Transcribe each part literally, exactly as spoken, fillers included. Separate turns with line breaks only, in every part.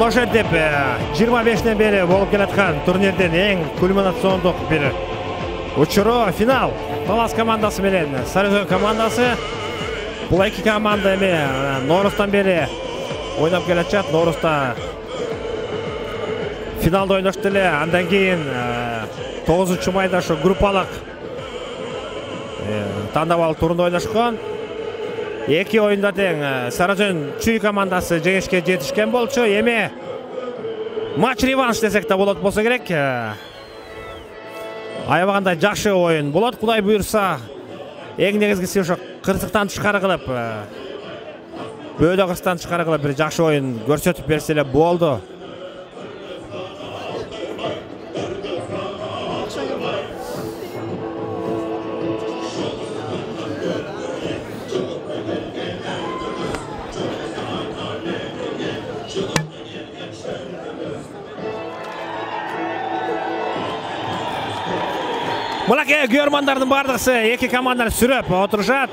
ошентип жыйырма бештен бери болуп келаткан турнирдин эң кульминациондук бир учуру финал. Талас командасы менен Сарыөзөн командасы. Бул эки команда эми Ноорустан бери ойноп келатышат. Ноорузда финалда ойношту эле. Андан кийин тогузунчу майда ошо группалык тандабал турунда ойношкон. Эки оюнда тең Сарыөзөн Чүй командасы жеңишке жетишкен болчу. Эми матч реванш десек да болот болсо керек. Аябаганда жакшы оюн болот. Кудай буйрса, эң негизгиси ошо кырсыктан тышкары кылып, бөөдө кырсыктан тышкары кылып бир жакшы оюн көрсөтүп берсе эле болду. Мынакей көрмандардын бардыгысы эки команданы сүрөп отурушат.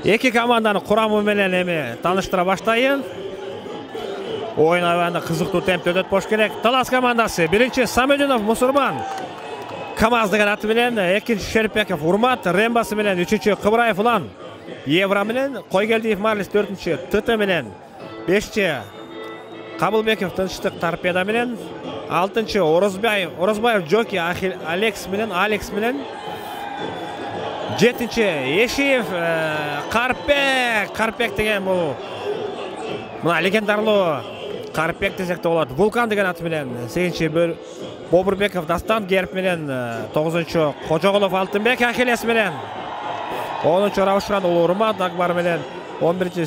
Эки команданын курамы менен эми тааныштыра баштайын. Оюн аябагында кызыктуу темпте өтөт болуш керек. Талас командасы биринчи Самединов Мусурман КамАЗ деген аты менен, экинчи Шериповбеков Урмат Рембасы менен, үчүнчү Кыбыраев Улан Евра менен, Койгелдиев Марлис төртүнчү ТТ менен, бешинчи Кабылбеков Тынчтык Торпеда менен, алтынчы Орозбаев, Орозбаев Джоки Алекс менен, Алекс менен, жетинчи Ешиев Карпек, Карпек деген бул мына легендарлуу Карпек десек да болот. Вулкан деген аты менен, сегизинчи Бобурбеков Дастан Герб менен, тогузунчу Кожоголов Алтынбек Ахилес менен, онунчу Раушан Улуу Урмат Акбар менен, он биринчи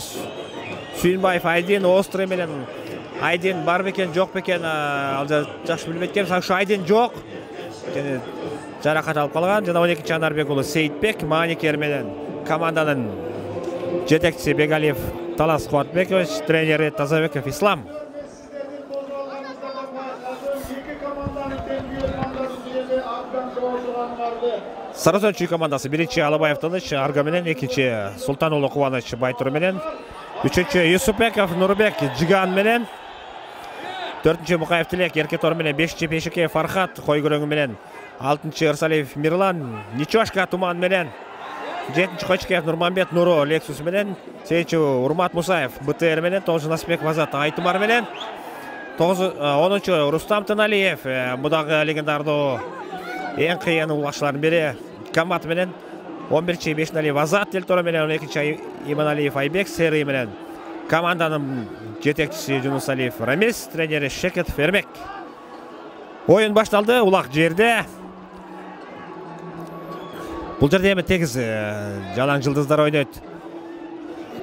Сүйүнбаев Айдин Острый менен. Айдин бар бекен, жок бекен, ал жакшы билбейт экенбиз. Ошо Айдин жок. Жаракат алып калган. Жана он экинчи Анарбек уулу Сейитбек Маникер менен команданын жетекчиси Бегалиев Талас Кубатбекович, тренери Тазабеков Ислам. Сарыөзөн Чүй командасы биринчи Алабаев Тыныч Арга менен, экинчи Султан уулу Кубаныч Байтур менен, үчүнчү Юсупбеков Нурбек Жиган менен, төртүнчү Мукаев Тилек Эркетор менен, бешинчи Пешикеев Фархат Койгөрөңү менен, алтынчы Ырсалиев Мирлан Ничошка Туман менен, жетинчи Кочкеев Нурманбет Нуру Лексус менен, сегизинчи Урмат Мусаев БТР менен, тогузунчу Насипбеков Азат Айтумар менен, онунчу Рустам Тыналиев, бу дагы легендардуу эң кыйын улашчылардын бири Камат менен, он биринчи Бешиналиев Азат Делтора менен, он экинчи Иманалиев Айбек Сери менен, команданын жетекчиси Жунусалиев Рамис, тренери Шекетов Эрмек. Оюн башталды, улак жерде. Бул жерде эми тегиз жалаң жылдыздар ойнойт.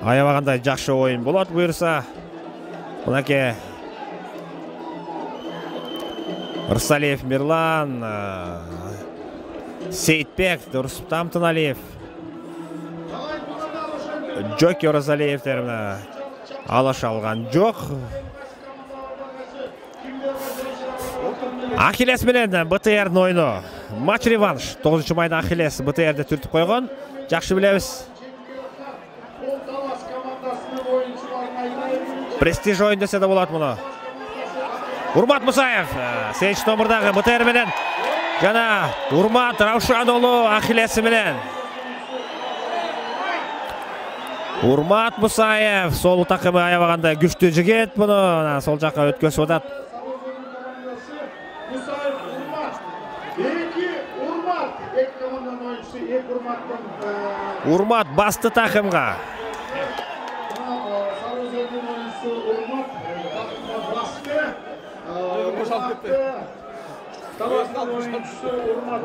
Аябаганда жакшы оюн болот буйрса. Мынакей Ырсалиев Мирлан, Сейитбек, Рустам Тыналиев, Джоки Оразалиевтер алаша алган жок. Ахилес менен БТРдин оюну. Матч реванш. тогузунчу майда Ахилес БТРди түртүп койгон. Жакшы билебиз. Престиж оюн десе да болот муну. Урмат Мусаев, сегизинчи номурдагы БТР менен, жана Урмат Раушан уулу Ахилеси менен. Урмат Мусаев, сол такымы аябаганда күчтүү жигит, муну сол жакка өткөзүп атат. Урмат басты такымга.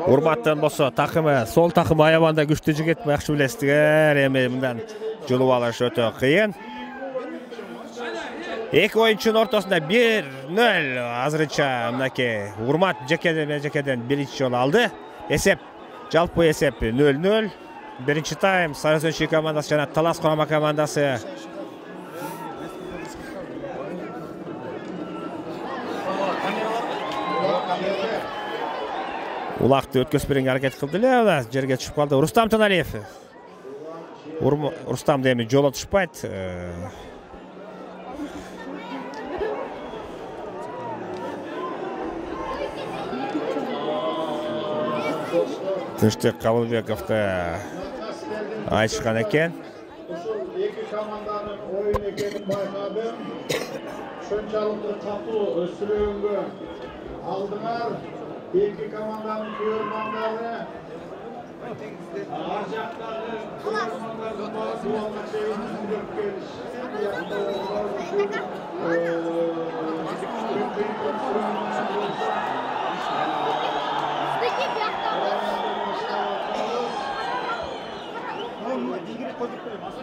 Урматтан болсо такымы, сол такымы аябаганда күчтүү жигит, жакшы билесиздер. Эми мындан жылып алыш өтө кыйын. Эки оюнчунун ортосунда бир нөл азырынча мынакей Урмат жекеден жекеден биринчи жолу алды. Эсеп, жалпы эсеп нөл нөл. Биринчи тайм Сарыөзөн Чүй командасы жана Талас Курама командасы улакты өткөзүп берүүгө аракет кылды эле, жерге түшүп калды. Рустам Тыналиев. Рустам эми жолу түшпайт. Тынчтык Кабылбековду айтышкан экен.
Ушул эки команданын оюн экенин байкадым. Ошончалык катуу сүрөөнгө алдыңар. Эки команданын көрөрмандары ар жактагы көрөрмандардын баары дуалга чейин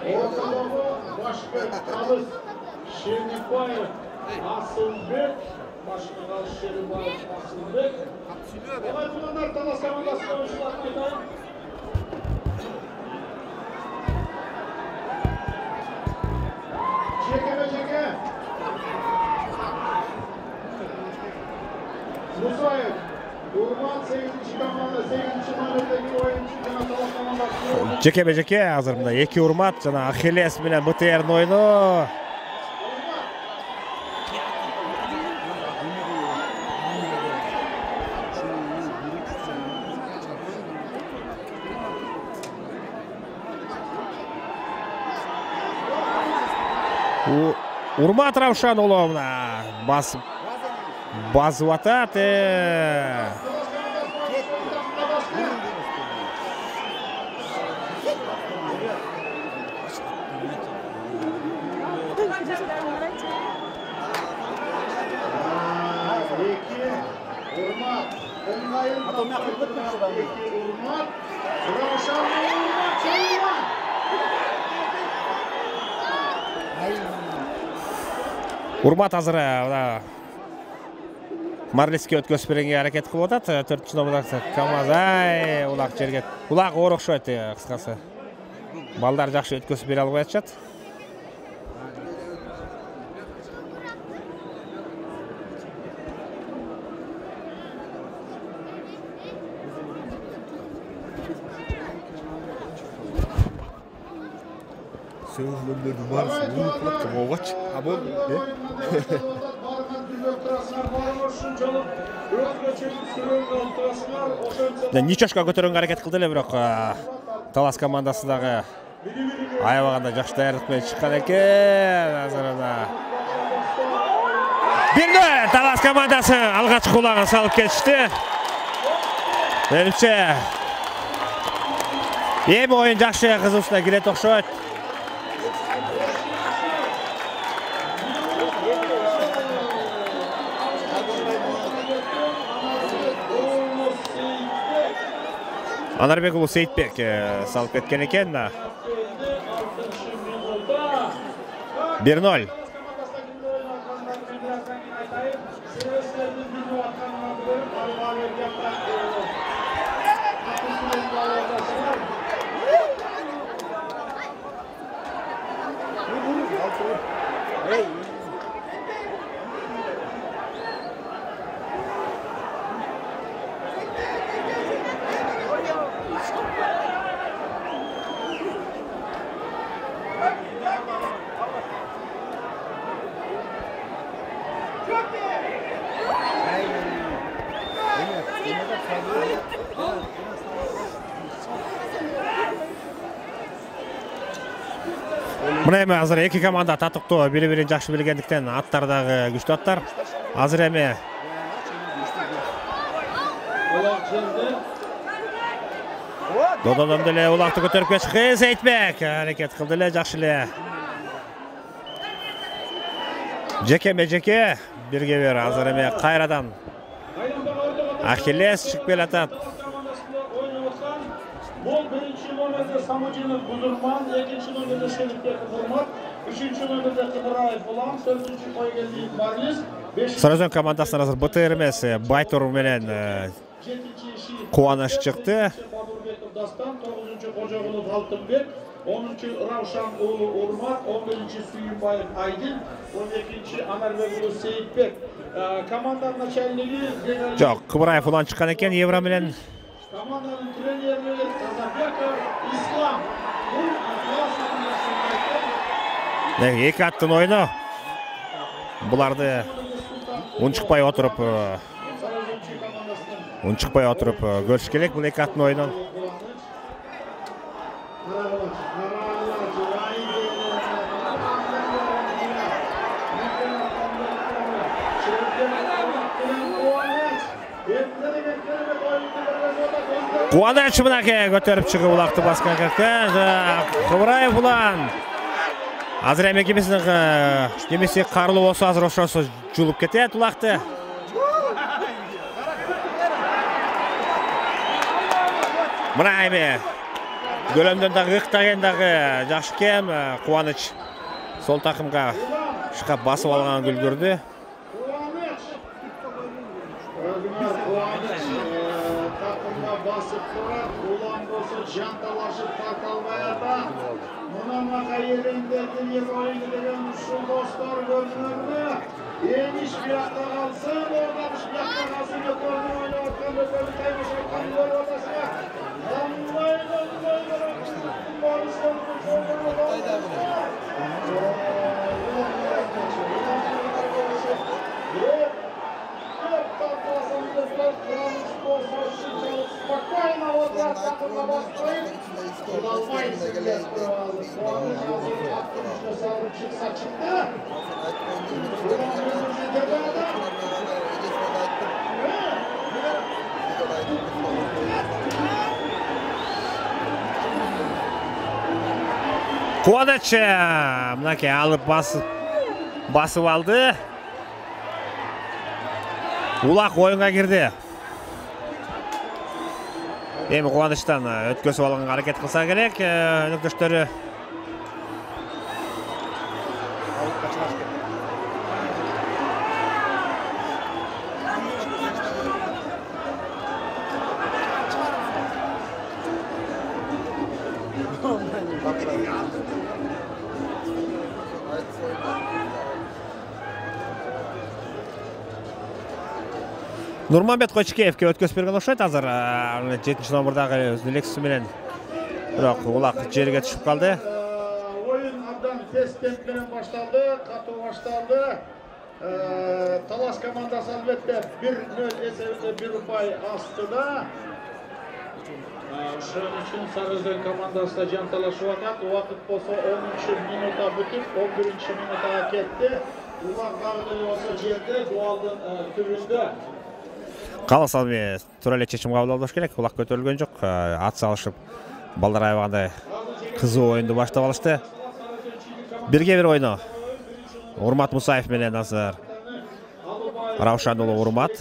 Ортодогу Башбек Калыс Шерникбаев Асылбек Башкы Калыс Шерникбаев Асылбек Алай тугандар талас командасы оюнчуларын айтайын. Жекеме-жеке Мусаев Урман сегизинчи команда сегизинчи номердеги оюнчу жана талас командасы.
Жекеме-жеке азыр мына эки Урмат жана Ахиллес менен БТРдин оюну. Урмат Равшан уулу мына басып басып атат. Урмат азыр Марлиске өткөзүп бергенге аракет кылып атат. төртүнчү номердеги Камазай улак жерге. Улак оор окшойт кыскасы. Балдар жакшы өткөзүп бере албай атышат.
Söylümlerin varsa bunu bıraktım oğaç. Ama ne?
Ничошко көтөрөнгө аракет кылды эле, бирок талас командасы дагы аябаганда жакшы даярдык менен чыккан экен. Азырына бир нөл талас командасы алгачкы улагын салып кетишти. Менимче эми оюн жакшы кызуусуна кирет окшойт. Анарбек уулу Сейитбек салып кеткен экен. бир нөл. Мына эми азыр эки команда татыктуу, бири-бирин жакшы билгендиктен аттар дагы күчтүү аттар. Азыр эми Дододон деле улакты көтөрүп кетишти. Сейитбек аракет кылды эле, жакшы эле. Жекеме-жеке бирге бир азыр эми кайрадан Ахиллес чыгып келатат.
Бул биринчи номерде Самудинов Бузурман, экинчи номерде Шерикбек Урмат, үчүнчү номерде Кыдыраев Улам, төртүнчү Койгелдиев Марлис, бешинчи
Саразон командасынан азыр БТР эмес, Байтур менен Кубаныч чыкты.
Бабурбеков Дастан, тогузунчу Кожогулов Алтынбек, онунчу Равшан уулу Урмат, он биринчи Сүйүнбаев Айдин, он экинчи Анарбек уулу Сейитбек. Команданын начальниги
Жок, Кыбыраев улан чыккан экен, Евра менен.
Команданын тренери Казакбеков Ислам.
Эки аттын оюну. Буларды унчукпай отуруп, унчукпай отуруп көрүш керек бул эки аттын оюнун. Кубаныч мынакей көтөрүп чыгып улакты баскан кезде Кыбыраев улан. Азыр эми кимисинин кимиси карлуу болсо азыр ошосу жулуп кетет улакты. Мына эми көлөмдөн дагы ыктаген дагы жакшы экен. Кубаныч сол такымга шкап басып алганын үлгүрдү.
Basıp durar, ulan bolsa jantalaşıp tarkalmayada. Munamaqa yerinde yer oyunu degen uşul dostlar görünürlü. Eniş bir yakta kalsın, oradamış bir yakta kalsın, götürdü oyunu ortadan ötürü kaymış ortadan gol odasına. Anlayın, anlayın, anlayın, Barış'tan спокойно вот так вот на вас стоит. Удалмайся, блядь, Кубаныч азыр аттырышты салып чыкса чыкты.
Кубаныч мынакей алып басып басып алды. Улак оюнга кирди. Эми Кубанычтан өткөзүп алганга аракет кылса керек, өнөктөштөрү. Нурманбет Кочкеевке өткөзүп берген окшойт азыр жетинчи номурдагы өзүнүн лексусу менен. Бирок улак жерге түшүп калды.
Oyun abdan tez temp менен башталды, катуу башталды. Талас командасы албетте bir nol эсебинде bir упай астыда. Ошон үчүн Сарыөзөн командасы да жанталашып атат. Убакыт болсо онунчу минутта бүтүп, он биринчи минутага кетти. Улак дагы болсо жерде дуалдын түбүндө.
Калыс албай туура эле чечим кабыл алыш керек. Улак көтөрүлгөн жок. Ат салышып балдар аябагандай кызуу оюнду баштап алышты. Бирге бир ойно. Урмат Мусаев менен азыр Раушан уулу Урмат.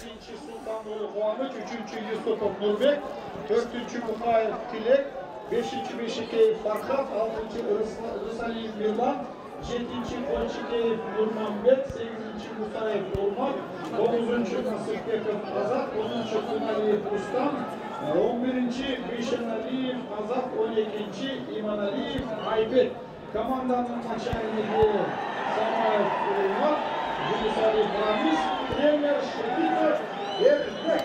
үчүнчү Юсупов Нурбек, төртүнчү Мухаев Тилек, бешинчи Бешикеев Фархат, алтынчы Рысалиев Мирлан, жетинчи Кочкеев Нурманбет, сегизинчи Мусаев Урмат, тогузунчу Насырбеков Азат, онунчу Куналиев Рустам, он биринчи Бишеналиев Азат, он экинчи Иманалиев Айбек. Команданын начальниги Самаев Урмат, Жумисалиев Рамис, тренер Шепитов Эрбек.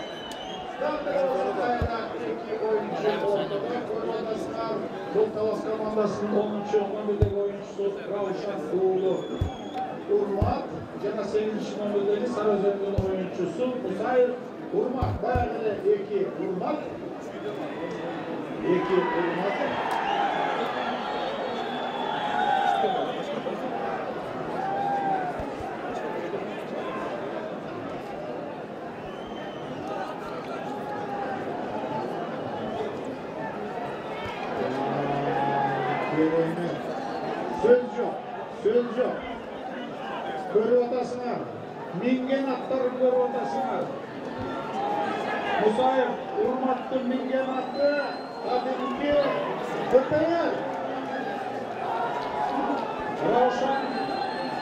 Бұл Талас командасының онунчу номердеги оюнчусу Раушан уулу Урмат жана сегизинчи номердеги Сарыөзөндүн оюнчусу Мусаев Урмат. Баягы эле эки Урмат. эки Урмат. Söz yok, söz yok. Körüp atasыңар, minген аттарын көрүп атасыңар. Мусаев Урматтын минген аты, кадимки көтөрөр. Раушан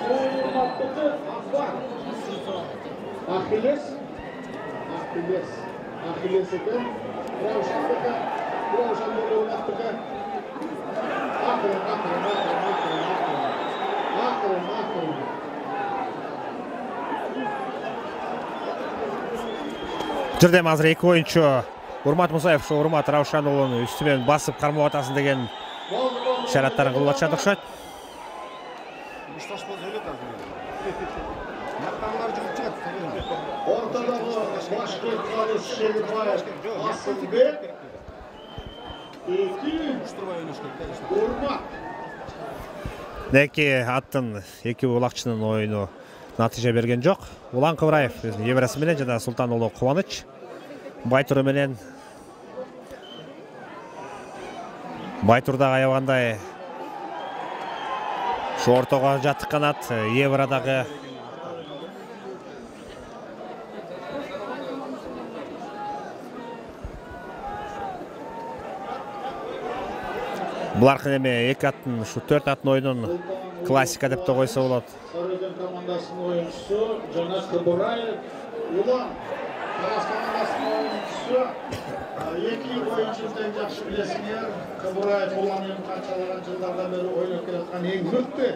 Урматтыкы Акбар. Ахиллес, Ахиллес, Ахиллес экен. Раушандыкы, Раушан Урматтыкы. Акырын, акырын, акырын, акырын, акырын, акырын, акырын.
Жердем азыр эки оюнчу Урмат Мусаев ушу Урмат Раушан уулунун үстү менен басып кармап атасың деген ишараттарын кылып атышат окшойт.
Ортодогу башкы Калыс Шерибаев Асылбек. Эки Урмат.
Эки аттын, эки улакчынын оюну натыйжа берген жок. Улан Кыбыраев неберасы менен жана Султан уулу Кубаныч Байтуру менен Байтурдагы аябагандай ушу ортого жатык канат Еврадагы буларкы эме эки аттын ушу төрт аттын оюнун классика деп да койсо болот.
Сарыөзөн командасынын оюнчусу жана Кыбыраев, Улан Талас командасынын оюнчусу. Эки оюнчуну тең жакшы билесиңер. Кыбыраев Уланын канчалаган жылдардан бери ойноп келаткан эң мыкты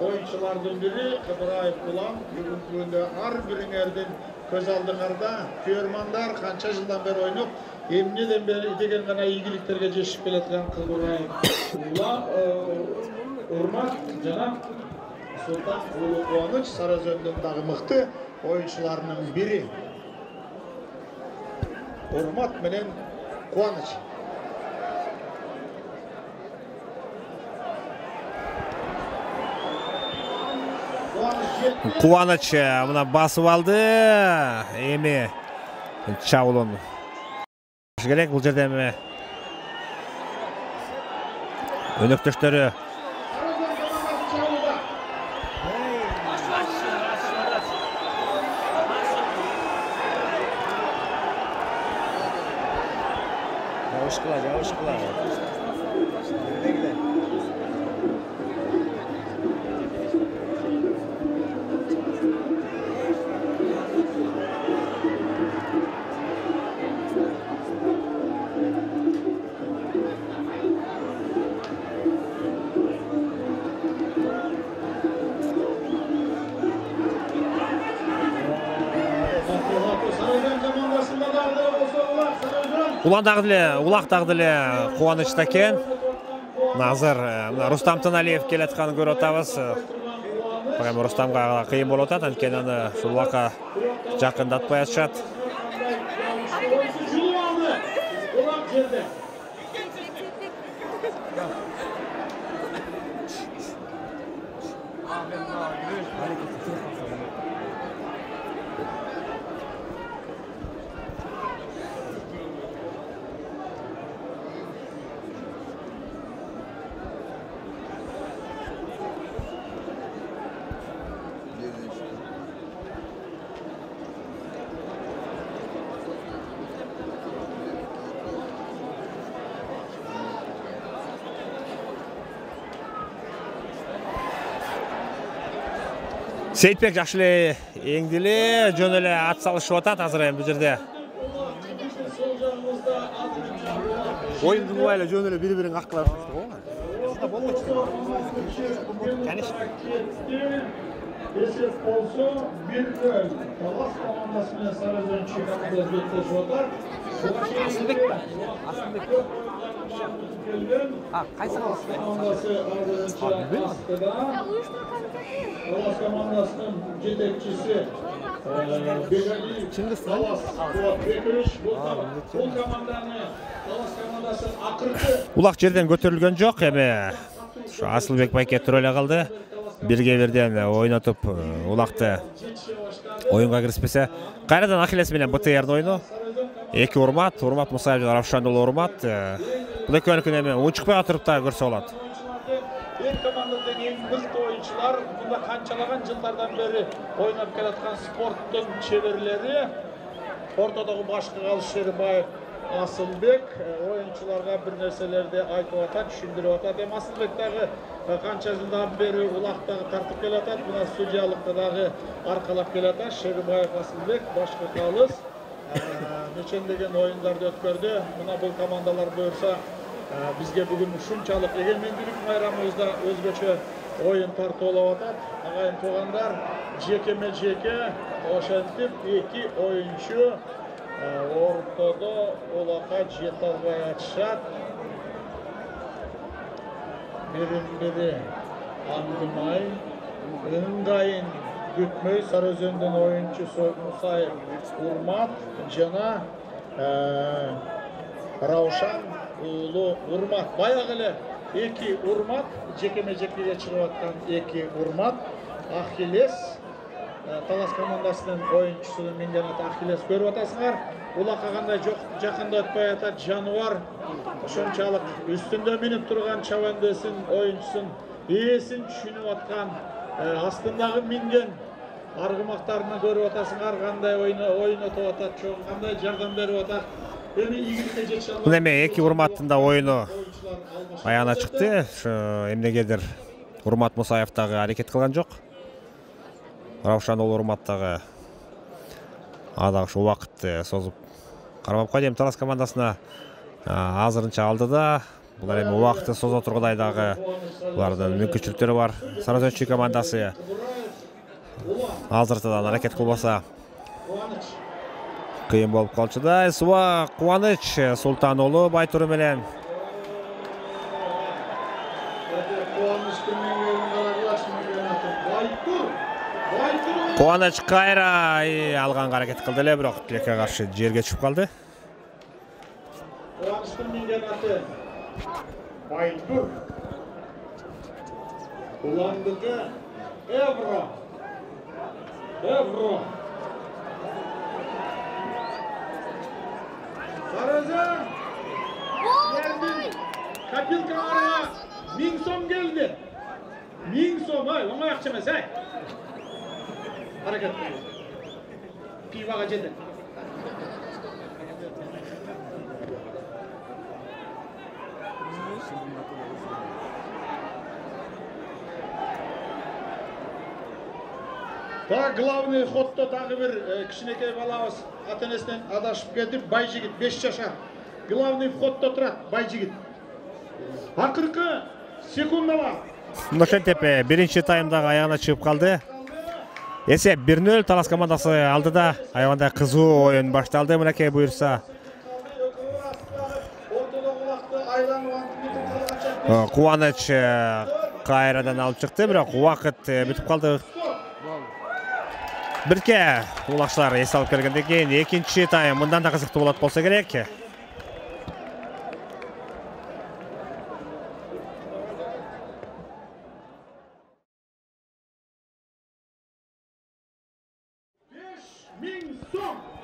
оюнчулардын бири. Кыбыраев Улан бүгүнкү күндө ар бириңердин көз алдыңарда көрмандар канча жылдан бери ойноп, эмнеден бери деген гана ийгиликтерге жетишип келаткан Кыбыраев Улан Урмат жана Султан уулу Кубаныч Сарыөзөндүн дагы мыкты оюнчуларынын бири. Урмат менен Кубаныч.
Кубаныч мына басып алды. Эми чабуулун керек бул жерде эми өнөктөштөрү
Жабышкыла, жабышкыла.
Улан дагы деле, Улак дагы деле кубанычта экен. Азыр мына Рустам Тыналиев келатканын көрүп атабыз. Бирок Рустамга кыйын болуп атат, анткени аны ушул Улакка жакындатпай атышат. Сейитбек жакшы эле эңди эле жөн эле ат салышып атат азыр эми бул жерде. Оюнду убай эле жөн эле бири-бирин каккылап атышты го. Болмочу. Конечно.
Эсеп болсо бир нөл. Талас командасы менен Сарыөзөн командасы беттешип атат.
Асылбек. Асылбек. А, кайсы
командасы астыда. Талас командасынын жетекчиси Бегали Талас Кубатбекович. Бул команданы Талас командасы акыркы.
Улак жерден көтөрүлгөн жок, эми ушу Асылбек байке туруп эле калды. Бирге бирден ойнотуп Улакты оюнга киришпесе, кайрадан Ахиллес менен БТРдин оюну. Эки Урмат, Урмат Мусаев жана Равшан уулу Урмат. Бул экөөнүкүн эми унчукпай отуруп да көрсө болот.
Эки командадын эң мыкты оюнчулар, мында канчалаган жылдардан бери ойноп келаткан спорттун чеберлери. Ортодогу башкы калыш Шербаев Асылбек оюнчуларга бир нерселерди айтып атат, түшүндүрүп атат. Эми Асылбек дагы канча жылдан бери Улактагы тартып келатат, мына судьялыкта дагы аркалап келатат. Шербаев Асылбек башкы калыс нечендеген оюндарды өткөрдү. Мына бул командалар буюрса бизге бүгүн ушунчалык эгемендүүлүк майрамыбызда өзгөчө оюн тартуулап атат. Агайын туугандар, жекеме жеке ошентип эки оюнчу ортодо Улакка жете албай атышат. Бирин-бири аңдымай, ыңгайын күтмөй Сарыөзөндүн оюнчусу Мусаев Урмат жана Раушан уулу Урмат. Баягы эле эки Урмат, жекеме жекеге чыгып аткан эки Урмат, Ахиллес Талас командасынын оюнчусу менден ата Ахиллес көрүп атасыңар. Улакка кандай жакында өтпөй атат жаныбар. Ошончалык үстүндө минип турган чабандысын оюнчусун ээсин түшүнүп аткан, астындагы минген аргымактарына көрүп атасыңар, кандай оюн өтүп атат, чоң кандай жардам берип атат. Эми ийгиликке жете албайт.
Бул эми эки урматтын да оюну аяна чыкты. Эмнегедир Урмат Мусаев дагы аракет кылган жок. Раушан уулу Урмат дагы ада ушул убакытты созуп кармап койду. Эми Талас командасына азырынча алдыда. Булар эми убакытты созо тургудай дагы булардын мүмкүнчүлүктөрү бар. Сарыөзөнчү командасы азыртадан аракет кылбаса кыйын болуп калчу да. Суа Кубаныч Султан уулу Байтуру менен Кубаныч кайра алганга аракет кылды эле, бирок тилекке каршы жерге түшүп калды.
Кубанычтын минген аты Байтур. Уландыгы Эвро. Эвро. Сарыөзөн. Силердин копилкаларга миң сом келди. Миң сом, ай, оңой акча эмес, ай. Hareket. Pivага жетет. Та главный ходто дагы бир кичинекей балабыз ата-энесинен адашып кетип, Байжигит беш жашар. Главный входто турат Байжигит. Акыркы секундалар.
Ошентип биринчи таймдагы аягына чыгып калды. Эсеп бир нөл Талас командасы алдыда. Аябандай кызуу оюн башталды. Мынакей буюрса. Кубаныч кайрадан алып чыкты, бирок убакыт бүтүп калды. Бирке улакчылар эс алып келгенден кийин экинчи тайм мындан да кызыктуу болот болсо керек.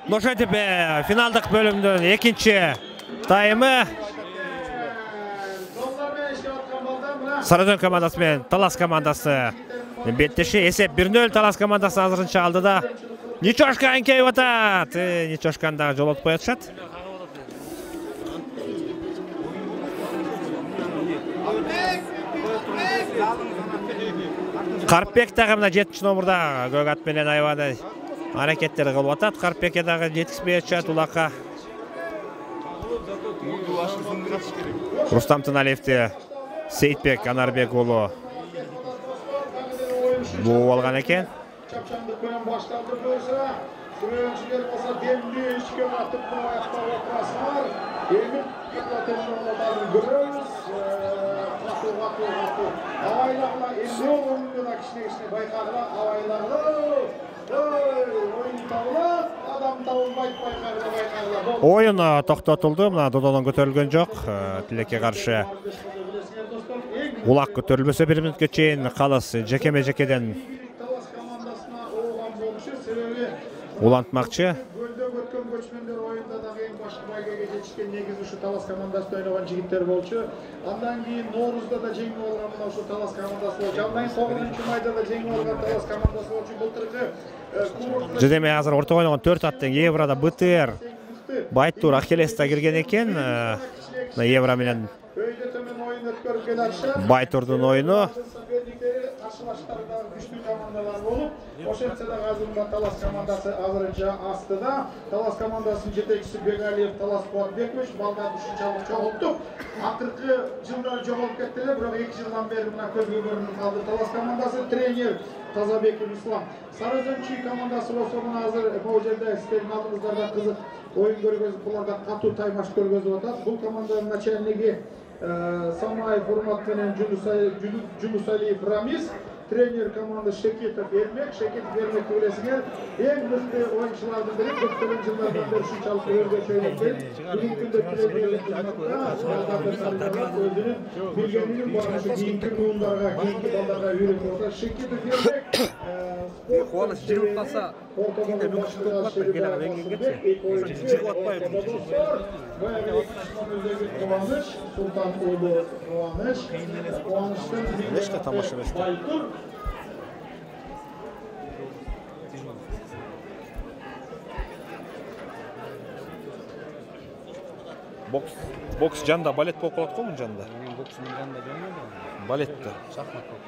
Ошентип финалдык бөлүмдүн экинчи таймы Сарыөзөн командасы менен Талас командасы беттеши. Эсеп бир нөл Талас командасы азырынча алдыда. Ничошка эңкейип атат. Ничошканы дагы жолотуп коюшат. Карпбек дагы мына жетинчи номурда көк ат менен аябай аракеттер кылып атат. Карпбекке дагы жетишпей атат улакка. Рустам Тыналиевди Сейитбек Анарбек уулу буу алган экен.
Чапчандык менен башталды болсо, сүрөөнчүлөр болсо демди ишке батып аяктап отурасыңар. Эми платеждордун көрөбүз. Катуу катуу катуу. Абайлагыла эмне болгонун кичине-кичине байкагыла, абайлагыла. Oyun табылат, адам табылбайт, байкагыла, байкагыла.
Oyun токтотулду. Мына дододон көтөрүлгөн жок. Тилекке каршы улак көтөрүлбөсө бир мүнөткө чейин калыс жекеме-жекеден улантмакчы.
Гөлдө өткөн көчмөндөр оюнда дагы эң башкы байгеге жетишкен негизи ушу Талас командасында ойногон жигиттер болчу. Андан кийин Ноорузда да жеңип алган мына ушу Талас командасы болчу. Андан кийин тогузунчу майда да жеңип алган Талас командасы болчу. Былтыркы
Жедеме азыр ортого ойногон төрт аттын Еврода БТР Байтур Ахиллес да кирген экен. Мына Евро менен
өйдө төмөн оюн өткөрүп келатышат.
Байтурдун оюну
каршылаштарда күчтүү командалар болуп, ошентсе дагы азыр Талас командасы азырынча астыда. Талас командасынын жетекчиси Бегалиев Талас Кубатбекович балдарды ушунчалык чогулттук. Акыркы жылдары жоголуп кетти эле, бирок эки жылдан бери мына көзгө көрүнүп калды. Талас командасы тренер Тазабеков Ислам. Сарыөзөнчү командасы болсо мына азыр могу жерде сиздердин алдыңыздарда кызык оюн көргөзүп, буларда катуу таймаш көргөзүп атат. Бул команданын начальниги Самаев Урмат менен Жунусалиев Рамис, тренер команды Шекетов Эрмек. Шекетов Эрмек билесиңер, эң мыкты оюнчулардын бири, көптөгөн жылдардан бери ушунчалык өзгөчө ойноп келет. Бүгүнкү күндө тренерлик кызматта өзүнүн билгенин барыша кийинки муундарга, кийинки балдарга үйрөтүп атат. Шекетов Эрмек
Кубаныч жигип калса, кийинде мүмкүнчүлүк болуп калат да, келе венгенгечи. Жигип атпайбы.
Кубаныч, Султан уулу Кубаныч, Кубанычтын
эчке тамаша эмес. Бокс, бокс жанда балет болуп калат го мун жанда.
Бокстун жанында көрмөдүм.
Балетте.
Шахмат болуп.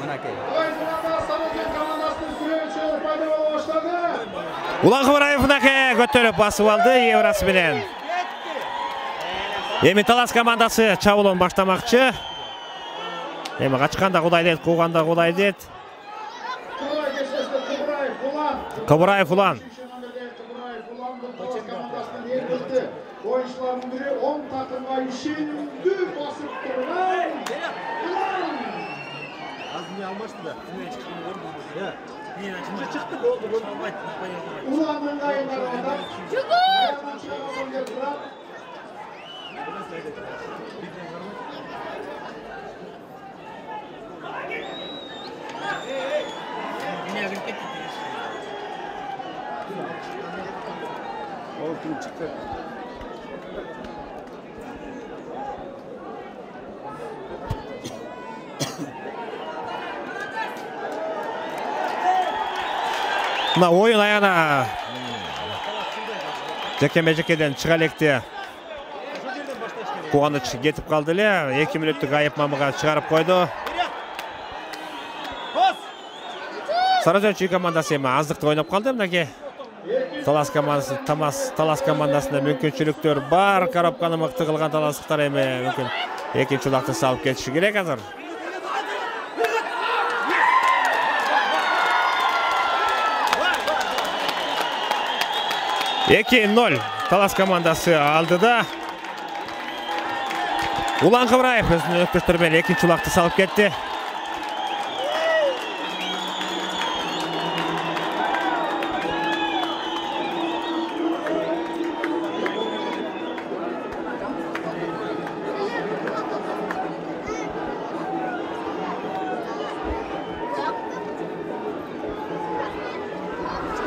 Мынакей.
Улан Кыбыраев мынакей көтөрүп басып алды Еврасы менен. Эми Талас командасы чабуулун баштамакчы. Эми качканда Кудай дейт, кууганда Кудай дейт. Кыбыраев Улан.
Oyuncuların biri on takımga işindi basıp duran Ulan.
Az mı almıştı da? Ya. Niye çıktı oldu bunu?
Ulan'ın kayınlarında. Ayağından çıkaralım götüren.
Oldu çıktı.
Мына ойын аяна жеке-межекеден чыга электе. Кубаныч кетип калды эле. эки мүнөттүк айып мамыга чыгарып койду. Сарыөчүү командасы эми аздыкты ойноп калды мынакей. Талас командасы, Тамас Талас командасында мүмкүнчүлүктөр бар. Коробканы мыкты кылган таластыктар эми мүмкүн экинчи улакты салып кетиши керек азыр. эки ноль Талас командасы алдыда. Улан Кыбыраев өзүнүн өктөштөрү менен экинчи улакты салып кетти.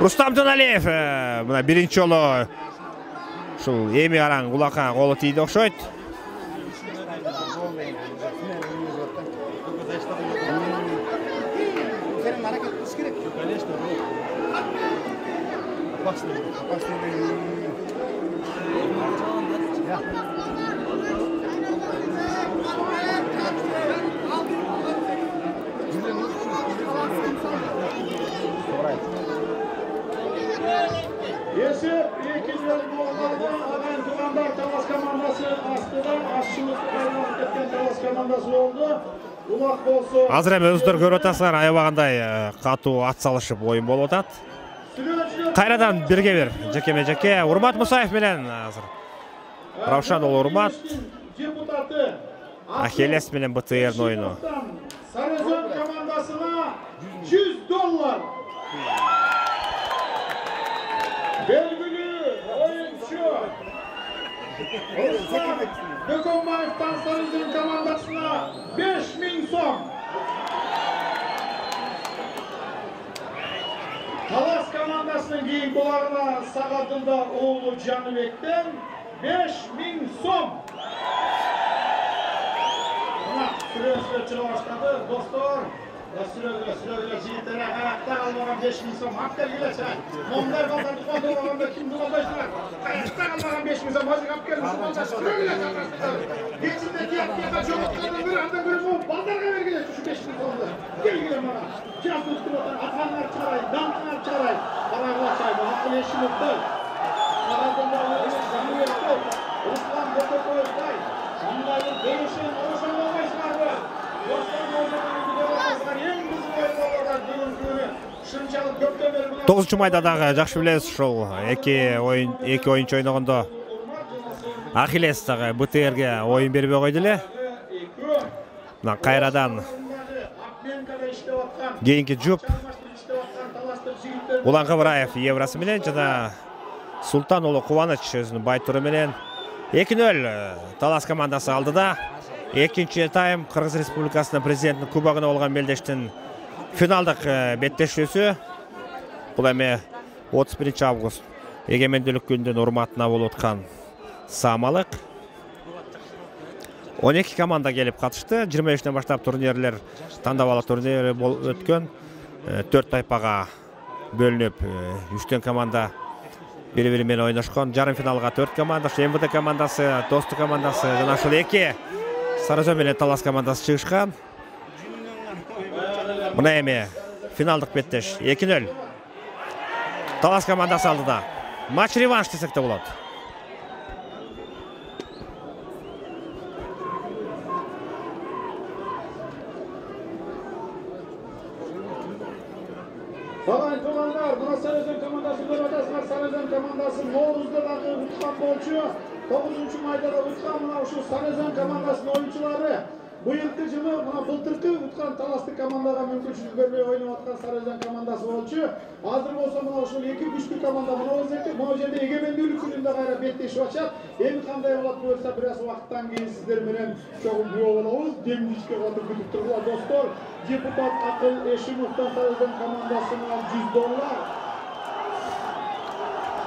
Рустам Туналиев мына биринчи жолу ушул эми араң улакка колу тийди окшойт.
Esip ikinci bollarda adan Tuğandar Talas komandası astıda aşçılık kaynağı ketken Talas komandası oldu. Ulak bolsu.
Азыр эми өздөрү көрүп атасыңар, аябагандай катуу ат салышып оюн болуп атат. Кайрадан бирге бир жеке-межеке Урмат Мусаев менен азыр Равшан уулу Урмат
Депутаты
Ахиллес менен бэ тэ эрдин оюну.
Sarıözen komandasına yüz dolar. Belgülü oyuncu Osman Dökonbayev'tan Sarıözen komandasına beş bin son. Talas komandasının giyin kulağına sakatında oğlu Canıbek'ten beş bin son. Ama süre süre çıra başladı dostlar. Süre süre süre jigitlere ayakta kalmadan beş bin son. Hak dergileşe. Momlar kaldan tutmadı olanlar kim tutmadılar. Ayakta kalmadan beş bin son. Hazır kap gelmiş. Süre süre çatlasınlar. Geçinde diğer diğer çok kaldan bir anda bir bu. Baldarga vergiler şu beş bin sonda. Gel gel bana. Kiraz tuttu otan. Atanlar çaray. Damlar çaray. Kararlar çayma. Hakkı yeşil öptü. Karadında oğlu canı yoktu. Ruslan Botokoy'day. Sanmayın değişin. Oruşan olmayışlar bu. Dostlar Botokoy'u görüyorlar. En kızı oyunlarlar. Düğün düğünü. Şınçalık gökten beri.
тогузунчу майдадагы жакшы билесиз ушул эки оюн эки оюнчу ойногондо Ахиллес дагы бэ тэ эрге оюн бербей койду эле. Мына кайрадан кийинки жуп Улан Кыбыраев Еврасы менен жана Султан уулу Кубаныч өзүнүн байтуру менен эки ноль Талас командасы алдыда. экинчи тайм Кыргыз Республикасынын президентинин кубогуна болгон белдештин финалдык беттешүүсү. Бул эми отуз биринчи август эгемендүүлүк күнүнүн урматына болуп аткан самалык. он эки команда келип катышты. жыйырма бештен баштап турнирлер тандап алуу турнири болуп өткөн. төрт тайпага бөлүнүп, үчтөн команда бири-бири менен ойношкон. Жарым финалга төрт команда, эм вэ дэ командасы, Достук командасы жана ошол эки Сары Өзөн менен Талас командасы чыгышкан. Мына эми финалдык беттеш эки нөл. Талас командасы алдыда. Матч реванш десек те болот.
Bagay tuğanlar, buna Sары Өзөн командасы көрүп атасыздар. Сары Өзөн командасы Ноорузда дагы уткан болчу. тогузунчу майда да уткан. Мына ушул Сары Өзөн командасынын оюнчулары быйылкы жылы мына былтыркы уткан Таластык командага мүмкүнчүлүк бербей ойноп аткан Сары Өзөн командасы болчу. Азыр болсо мына ушул эки күчтүү команда могу жерде эгемендүүлүк күнүндө кайра беттешип атышат. Эми кандай болот буюрса бир аз убакыттан кийин сиздер менен чогуу күбө болобуз. Демдичке катып күтүп туруңуздар достор. Депутат Акыл Эшимовдон Сары Өзөн командасына жүз доллар.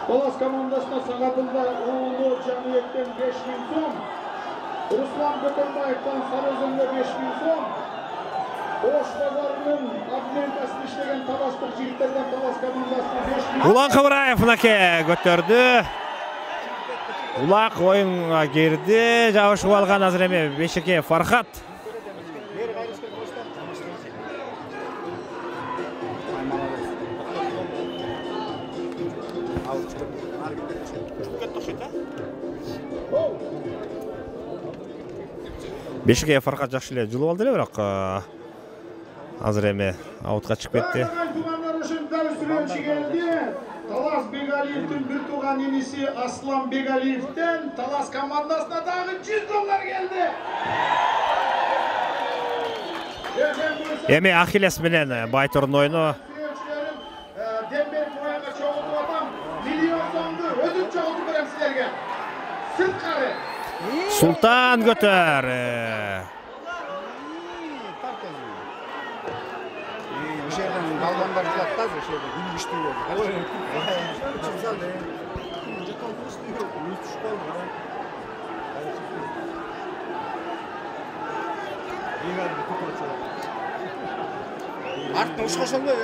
Талас командасына Сагадылда уулу Жаныбектен беш миң сом. Руслан Бөкөнбаевдон Сары Өзөнгө беш миң сом. Ош базарынын админкасында иштеген таластык жигиттерден Талас командасына беш миң.
Улан Кыбыраев мынакей көтөрдү. Улак оюнга кирди, жабышып алган азыр эми бешеке Фархат. Бешеке Фархат жакшы эле жылып алды эле, бирок азыр эми аутка чыгып кетти.
Талас Бегалиевдин бир тууган иниси Аслан Бегалиевден Талас командасына дагы жүз доллар келди.
Эми Ахиллес менен Байтурдун оюну.
Дембек мояга чогултуп атам. Миллион сомду өтүп чогултуп берем силерге. Сырткары.
Султан көтөр.
Балбандар жылаттаз ошол күнүштүү болду. Артына ушкош албай.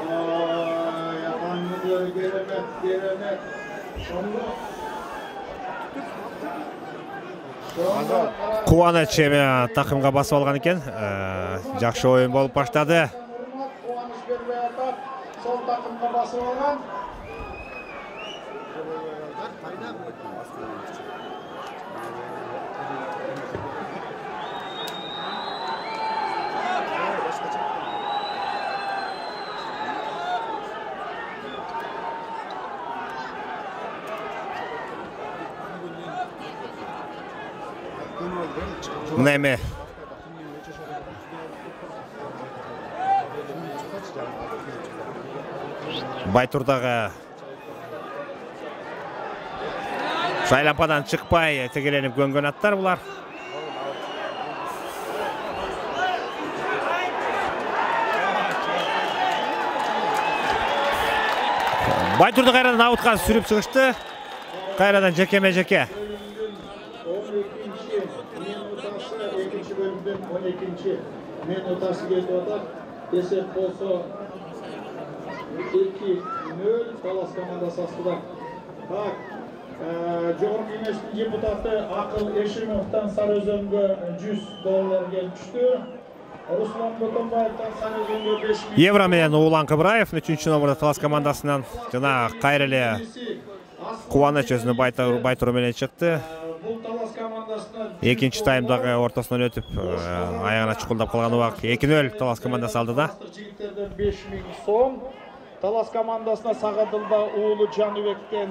Ой, апаңыздар керемет, керемет. Шондо
Кубаныч эми такымга басып алган экен. Жакшы оюн болуп баштады.
Кубаныч бербей атат. Сол такымга басып алган.
Мына эми Байтурдагы шайлампадан чыкпай тегеленип көнгөн аттар булар. Байтурду кайрадан аутка сүрүп чыгышты. Кайрадан жекеме жеке.
он экинчи минутасы кетип атат. Эсеп болсо эки нөл Талас командасы астында. Так, жогорку кеңештин депутаты Акыл Эшимовдон Сары Өзөнгө жүз доллар келип түштү. Руслан Бөкөнбаевдон Сары Өзөнгө беш миң.
Евро менен Улан Кыбыраев үчүнчү номерде Талас командасынан жана кайра эле Кубаныч өзүнүн Байтуру менен чыкты. Экинчи таймдагы ортосунан өтүп, аягына чукулдап калган убак эки нөл Талас командасы алдыда.
Жигиттерден беш миң сом. Талас командасына Сагадылда уулу Жаныбектен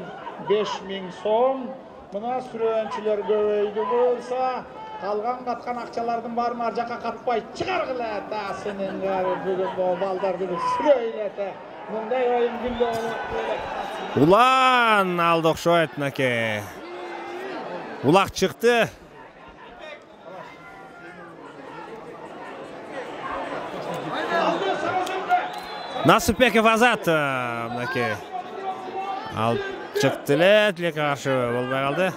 беш миң сом. Мына сүрөөнчүлөр көбөйдү болса, калган каткан акчалардын баарын ар жакка катпай чыгаргыла та сенин бүгүн балдарды сүрөйлө та. Мындай оюн күндө болот.
Улан алды окшойт мынакей. Улак чыкты. Насыпбеков Азат мынакей алып чыкты эле, тилекке каршы болбой калды.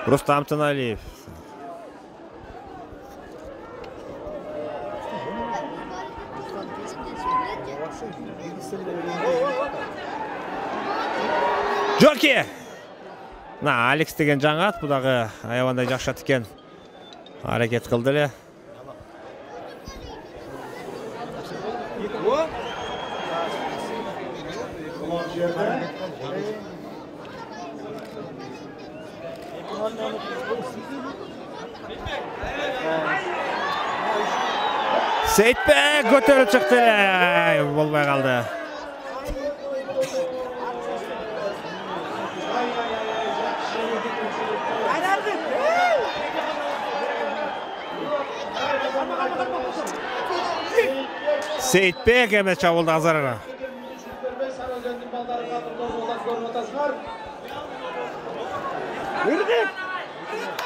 Рустам Тыналиев. Жоки! На, Алекс деген жаңат, бу дагы аябандай жакшат экен. Аракет кылды эле. Сейитбек көтөрүп чыкты эле, болбой калды. Сейитбек эме чабылды азарына.
Үрдүк!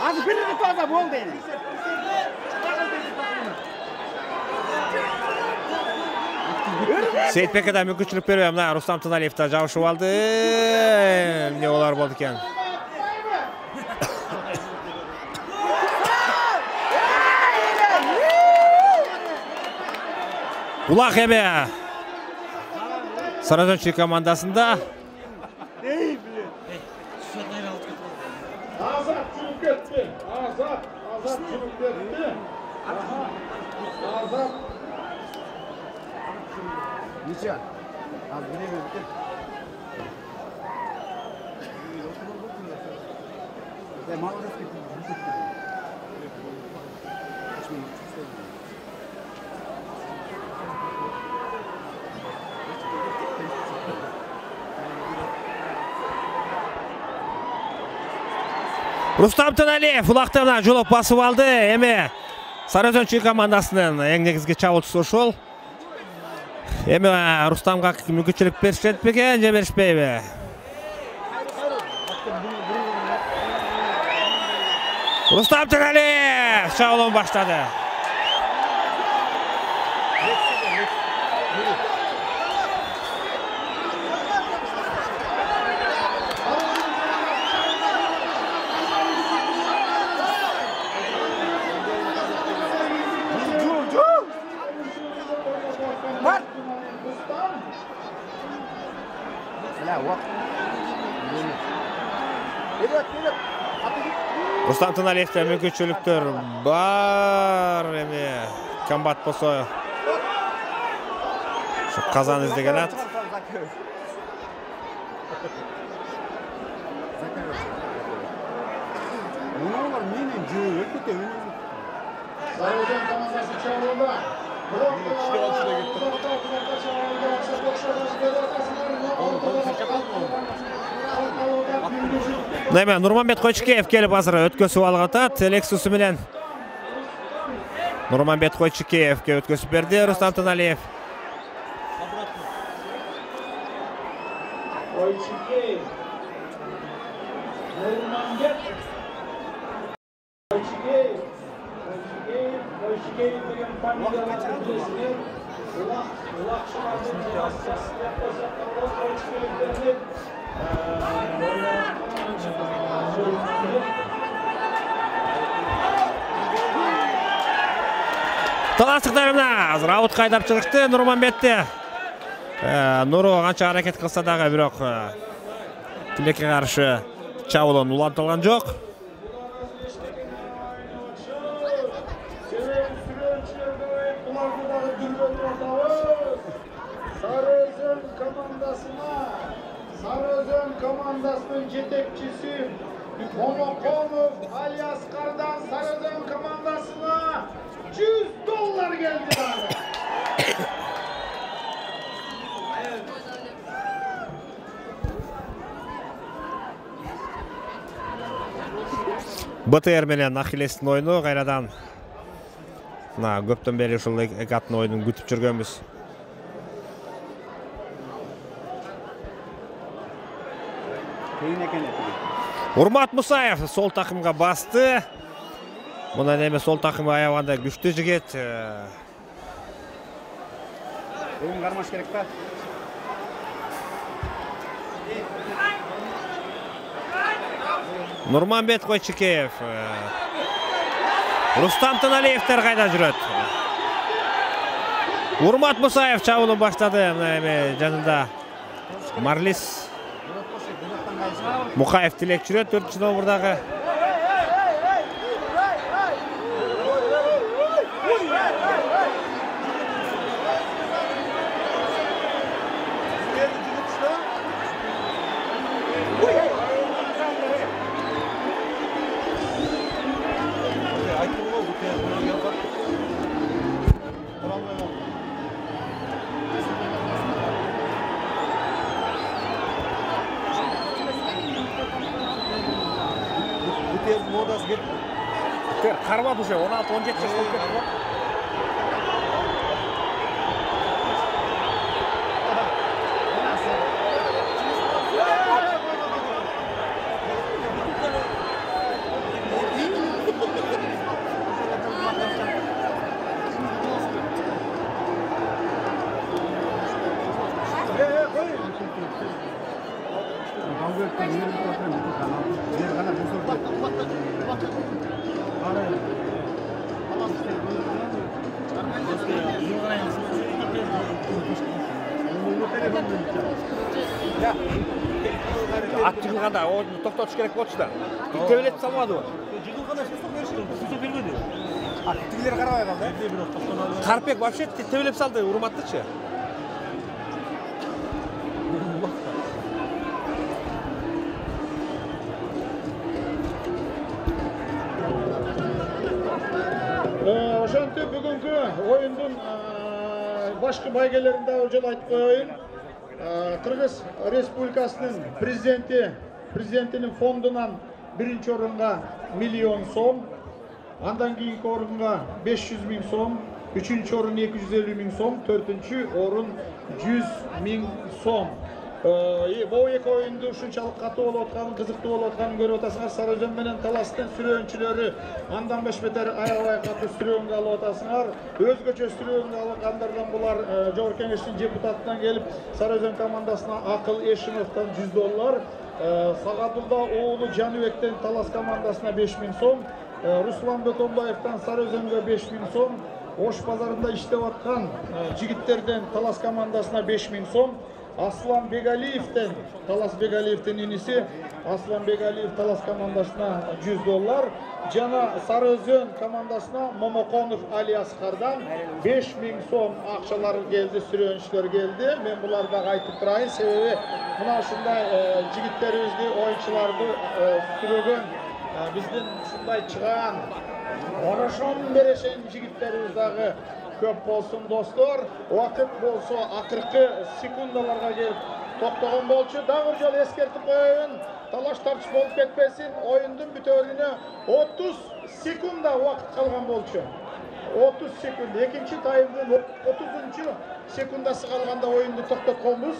Азыр бир рет таза болду эми.
Сейитбекке да мүмкүнчүлүк бербейм. Мына Рустам Тыналиев да жабышып алды. Эмне болар болду экен? Улак эме Саразончи командасында.
Азат жүрүп кетти. Азат, Азат жүрүп кетти. Азат.
Ниче? Az bilemedim. Ya maalesef ki
Рустам Тыналиев улактан жолоп басып алды. Эми Саразончи командасынын эң негизги чабуучусу ошол. Эми Рустамга мүмкүнчүлүк беришет бекен, же беришпейби? Рустам Тыналиев чабуулун баштады. Рустам Тыналиевте мүмкүнчүлүктөр бар, эми комбат болсо ушу казан издеген ат.
Мунулар менен жөө өтө
Саразон командасы чабууда.
Неме Нурманбет Койчукеев келип азыр өткөсүп алып атат. Лексусу менен Нурманбет Койчукеевке өткөсүп берди Рустам Тыналиев.
Койчукеев. Нурманбет Койчукеев. Койчукеев, Койчукеев деген фамилияларды билесиңер. Улак, улак шаардын басчысы Койчукеев берилет.
Таластыктарына азыр аут кайдап чыгышты Нурманбетте. Нуру канча аракет кылса дагы бирок тилекке каршы чабуулун улантылган жок.
Сарыөзөн командасына Сарыөзөн командасынын жетекчиси Момоконов Али Аскардан Сарыөзөн командасына жүз доллар келди дагы.
БТР менен Ахиллестин оюну кайрадан Мына көптөн бери ушул эки аттын оюнун күтүп жүргөнбүз.
Кийин экен.
Урмат Мусаев сол такымга басты. Мындан эми сол такым аябаганда күчтүү жигит.
Оюн кармаш керек па?
Нурманбет Койчикеев. Рустам Таналиевтер кайда жүрөт? Урмат Мусаев чабуулун баштады. Мына эми жанында Марлис Мукаев Тилек жүрөт төртүнчү номурдагы. Кармады уже он алты он жети жаш болуп кетти го. Ат жыгылганда ойунду токтотуш керек болчу да. Тебелетип салбадыбы?
Жыгылганда эч беришти, бузуп бербеди.
А тигилер карабай калды.
Карпек вообще тебелеп салды Урматтычы.
Ошентип бүгүнкү оюндун башкы байгелерин да жолу айтып коеюн. Кыргыз Республикасынын президенти президентинин фондунан биринчи орунга миллион сом, андан кийинки орунга беш жүз миң сом, үчүнчү орун эки жүз элүү миң сом, төртүнчү орун жүз миң сом. Бул эки оюнду ушунчалык катуу болуп атканын, кызыктуу болуп атканын көрүп атасыңар. Сарыөзөн менен Таластын сүрөөнчүлөрү андан бешбетер аябай катуу сүрөөнгө алып атасыңар. Өзгөчө сүрөөнгө алгандардан булар Жогорку Кеңештин депутатынан келип, Сарыөзөн командасына Акыл Эшимовдон жүз доллар, Сагадулда уулу Жаныбектен Талас командасына беш миң сом, Руслан Бөкөнбаевден Сарыөзөнгө беш миң сом, Ош базарында иштеп аткан жигиттерден Талас командасына беш миң сом, Аслан Бегалиевден, Талас Бегалиевдин иниси Аслан Бегалиев Талас командасына жүз доллар, жана Сарыөзөн командасына Момоконов Али Аскардан беш миң сом акчалар келди, сүрөөнчүлөр келди. Мен буларды дагы айтып турайын, себеби мына ушундай жигиттерибизди, оюнчуларды сүрөгөн биздин ушундай чыгаан орошон берешен жигиттерибиз дагы көп болсун достор. Убакыт болсо акыркы секундаларга келип токтогон болчу. Дагы бир жолу эскертип коеюн, талаш тартыш болуп кетпесин. Оюндун бүтөөрүнө отуз секунда убакыт калган болчу. отуз секунд. Экинчи таймдын отузунчу секундасы калганда оюнду токтотконбуз.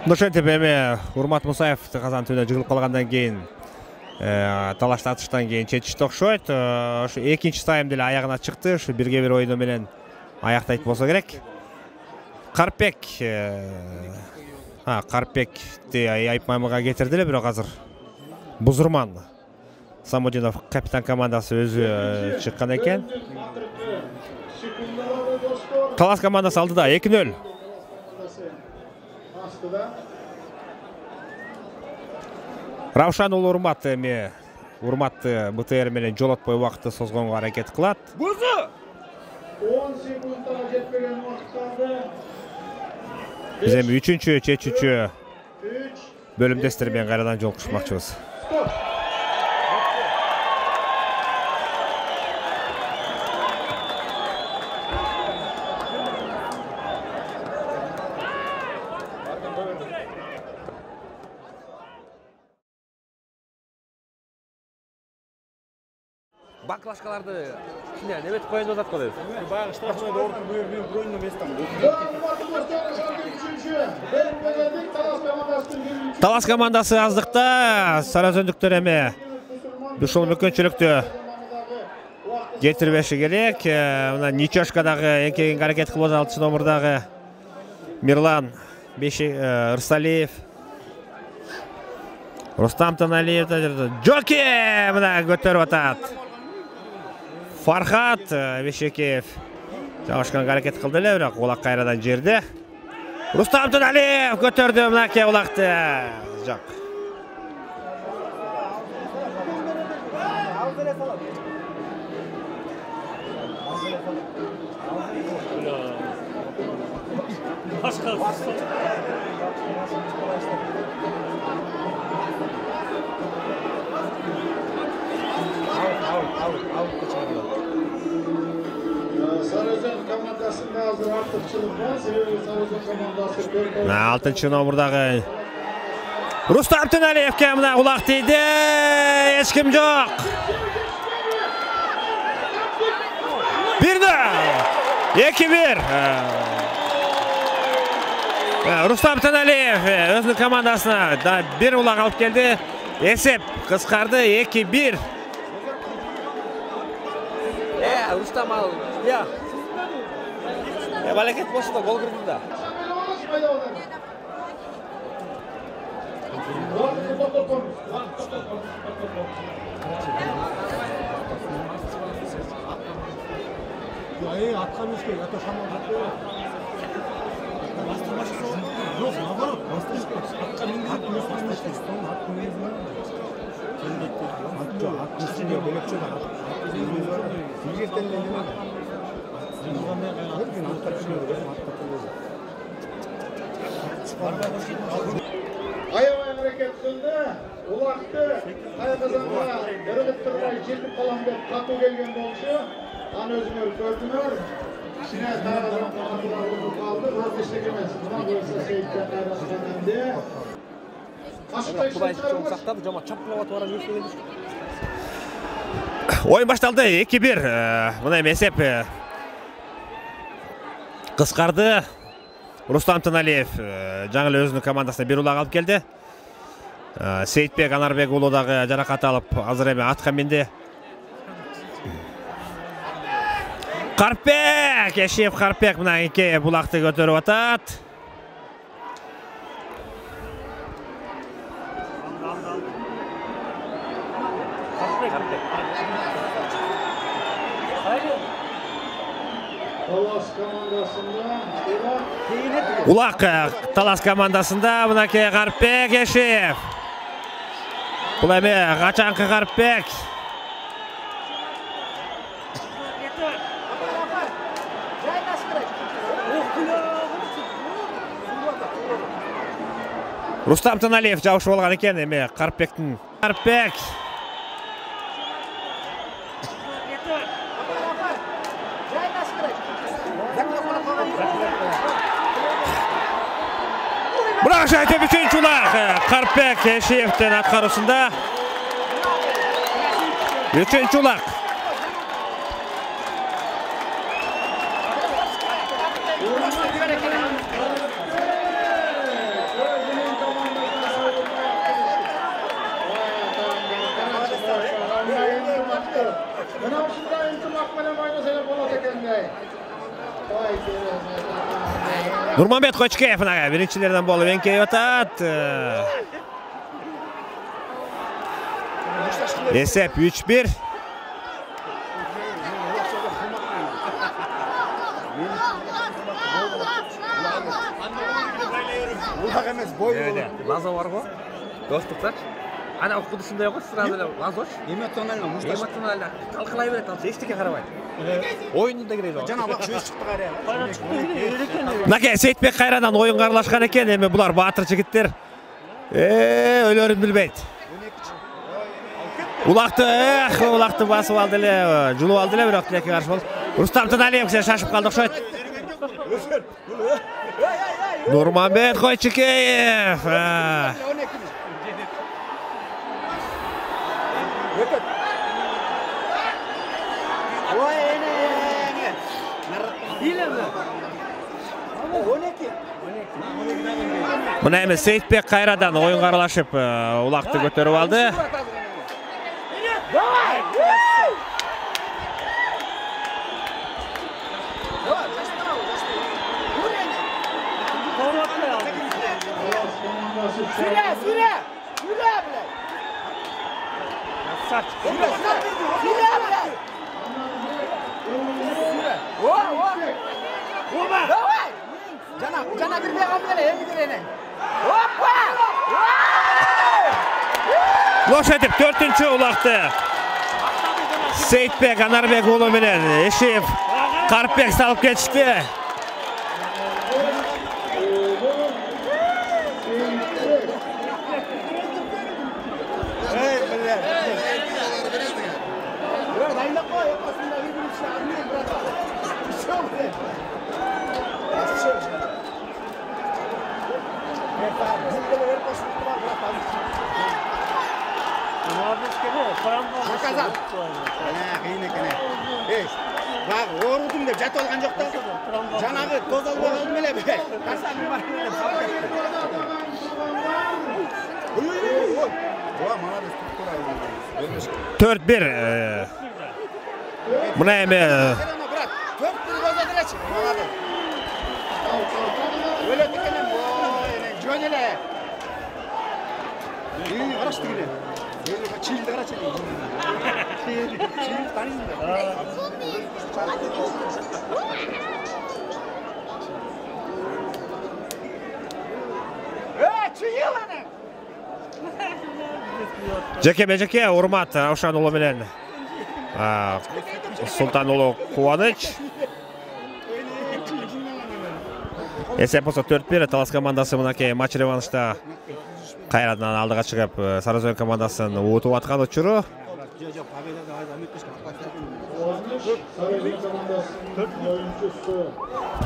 Ошентип эми Урмат Мусаев казан түбүнө жыгылып калгандан кийин талаш тартыштан кийин чечишти окшойт. Ошо экинчи тайм деле аягына чыкты. Ушу бирге бир оюну менен аяктайт болсо керек. Карпек а Карпекти Айпмамага кетирдилер, бирок азыр Бузурман Самудинов капитан командасы өзү чыккан экен. Талас командасы алдыда эки нөл. Равшан уулу Урмат эми Урматты БТР менен жолотпой убакытты созгонго аракет кылат.
он секундга жетпеген убакыт калды.
Биз эми үчүнчү чечүүчү бөлүмдөстөр менен кайрадан жолугушмакчыбыз.
Банклашкаларды кичине неметип коеюн деп атат го деп.
Баягы штрафной доордун бuyur бuyur броюнун эместен.
Талас командасы аздыкта, Саразөндүктөр эми ушул мүмкүнчүлүктү жетирбеши керек. Мына Ничошкадагы эң кийин аракет кылып алтынчы номурдагы Мирлан Ырсалиев, Рустам Таналиев, Жоки мына көтөрүп атат. Фархат Бешекеев жабышкан аракет кылды эле, бирок улак кайрадан жерде. Рустам Таналиев көтөрдү мынакей улакты. Жок.
Sarızen komandasında hazır артыкчылык бар. Себеби Sarızen komandасы
алтынчы номурдагы Рустам Таналиевке мына улак тийди. Эч ким жок. Бирде эки бир. Рустам Таналиев өзүнүн командасына да бир улак алып келди. Эсеп кыскарды эки бир.
Э, Рустам ал. Я. Э, балекет болсо да гол кирди да.
Ай, атка мишке, ата шамал жатты. Жоқ, наоборот, бастырышпа. Атка миндирип, бастырышпа. Ат миндирип. Ат жоқ, ат үстүнө бөлөкчө бар. Сиңертен эле нема бар? Бир күн атка түшүрүп, атка түшүрүп.
Аябай аракет кылды. Улакты Кайгазанга өргөт турбай жетип калам деп катуу келген болчу. Аны өзүңөр көрдүңөр. Кичине Кайгазан командалары калды. Бирок эчтеке эмес. Мына болсо Сейиттен кайраткан эмди.
Кудайчы чоң сактады, жама чапкылап атып барып жүрсө келди.
Oyun başladı эки бир. Мына эсеп кыскарды. Рустам Таналиев жаңы эле өзүнүн командасына бир улак алып келди. Сейитбек Анарбек уулу дагы жаракат алып азыр эми атка минди. Карпек, Эшиев Карпек мына эки булакты көтөрүп атат.
Талас командасында
Улак Талас командасында мынакей Карпек Эшиев. Бул эми качанкы Карпек. Рустам Таналиев жабышып алган экен эми Карпектин. Карпек. Бирок жайтып үчүнчү улак Карпек Эшиевдин аткаруусунда. Үчүнчү улак. Нурманбет Кочкеев биринчилерден болуп эңкейип атат. Эсеп үч бир.
Улак эмес, бой болот.
Лазо бар го. Достуктач. Ана окудушундай го, сразу эле лазоч.
Эмоционально, мушташ.
Эмоционально. Талкалай берет, ал эчтеке карабайт. Оюнда кирет.
Жана бак чөз чыкты кайра.
Мынакей Сейитбек кайрадан оюнга аралашкан экен, эми булар баатыр жигиттер. Э, өлөрүн билбейт. Улакты, эх, улакты басып алды эле, жулуп алды эле, бирок тилекке каршы болду. Рустам Таналиев шашып калды окшойт. Нурманбет Койчукеев.
Ой, эне. Билеме. он эки.
Мына эми Сейитбек кайрадан оюнга аралашып, улакты көтөрүп алды.
Süre, süre. Süre bile. Saç. Süre, süre bile. Süre. O, o. Oba. Давай. Жана, жана кирбей калды эле, эми кирene. Опа!
Лошадип төртүнчү улакты. Сейитбек Анарбек уулу менен Эшиев Карпбек салып кетишти.
Казак. Кыйын экен. Эй, баг оорудум деп жатып алган жок да. Жанагы тоз албай калдым эле бе. Касабы бар деп салып кетти. Ой, ой, ой. Ва, молодец, туттура.
төрт бир. Мына эми
төрт бир көзө делечи. Молодец. Өлөт экенем. Ой, жөн эле. Үй, карашты келе. Чилди карачы. Чилди, чилди танисыңдар. Э, чыйыл аны.
Жеке бежеке урмат Раушан уулу менен Султан уулу Кубаныч. Эсеп болсо төрт бир. Талас командасы мынакей матч реваншта кайрадан алдыга чыгып Сарыөзөн командасын уутуп аткан учуру.
Сарыөзөн командасынын оюнчусу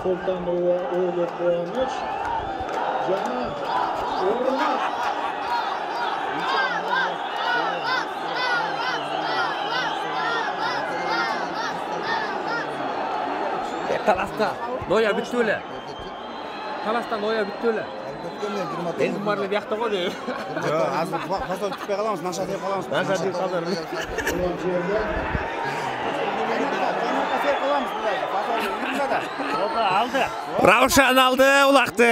Султан уулу Кубаныч жана Урмат.
Таласта ноя бүттү эле. Таласта ноя бүттү эле. Эң баары биякта го деп.
Жок, азыр фасол түппөй калабыз, наша деп калабыз.
Наша деп калдыр. Алды.
Раушан алды улакты.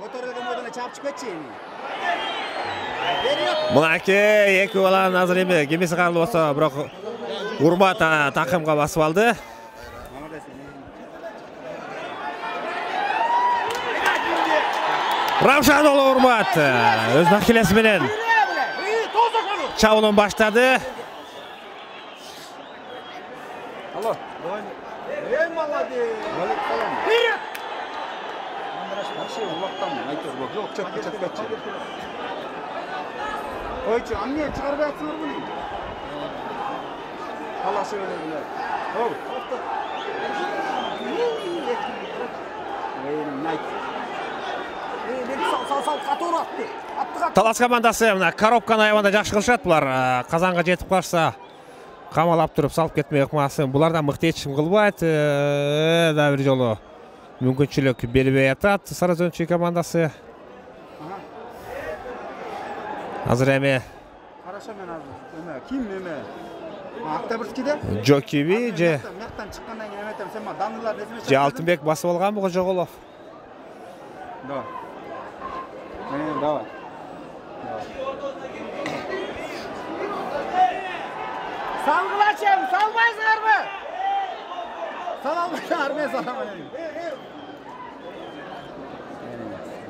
Көтөрүлгөн бойдон чаап чыгып кетчи.
Мынакей эки баланын азыр эми кемеси карлы болсо, бирок Урмат такымга басып алды. Раушан уулу Урмат өз накилеси менен чабуулун баштады.
Алло. Эй, молодец. Валик салам. Вперед! Вообще улактан айтып жок, жок, чөп чөп кетчи. Ойчу, а эмне чыгарбай атсыңар буну? Талашып эле биле. Оу, токтот. Эй, найт.
Талас командасы мына коробканы аябанда жакшы кылышат. Булар казанга жетип калса камалап туруп салып кетмей ыкмасын. Булардан мыкты эчим кылбайт. Да бир жолу мүмкүнчүлүк бербей атат Сарыөзөнчү командасы. Азыр эми
караша мен азыр эме ким эме Октябрьскийде
Жокиби же
мактан чыккандан кийин эметем сен ма Данылар несиме
же Алтынбек басып алганбы Кожоголов?
Давай. Э, давай. Салгылачым, салбайсыңарбы? Салалбайсыңар, мен саламын.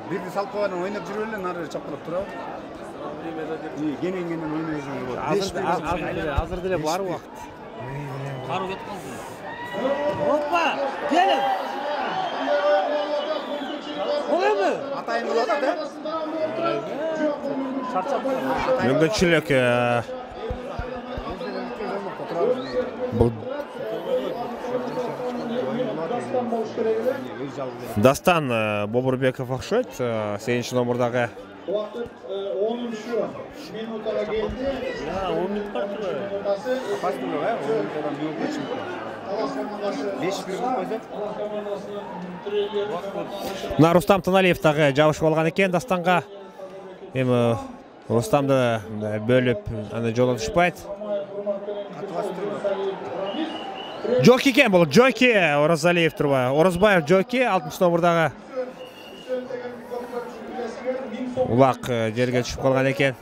Бирди салып койгондон ойноп жүрүп эле нары чапкылап турабы? Кенен-кенен ойной жүрүп болот.
Азыр деле бар убакыт. Каруу кетип калды. Опа, келин. Олемби?
Атайын болот да?
Мүмкүнчүлүк бул Дастан Бобурбеков окшойт. сегизинчи номурдагы
Vaqt onuncu minutlara geldi.
Ya on minut var ki böyle. Kaç minut var ya? on minutdan bir yol geçmiş. beş bir minut koysa.
Мына Рустам Таналиев дагы жабышып алган экен Дастанга. Эми Рустамды бөлүп аны жолу түшпайт. Жоки экен бул, Жоки Оразалиев турба. Орозбаев Жоки алтымыш номурдагы. Улак жерге түшүп калган экен.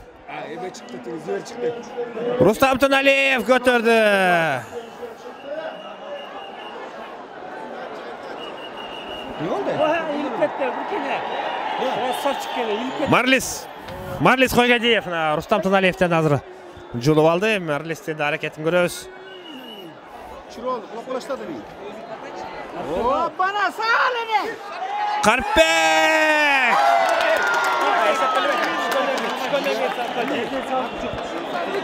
Эбе чыкты, зөөр чыкты.
Рустам Таналиев көтөрдү.
Ne oldu?
İlip ketти, bir kene. Saf çıkkene, ilip ketти.
Марлис. Марлис Койгадиев Рустам Таналиевден азыр жулуп алды. Марлистин аракетин көрөбүз.
Чирол, кулап калаштады бий. О, бана сал эне.
Карпек!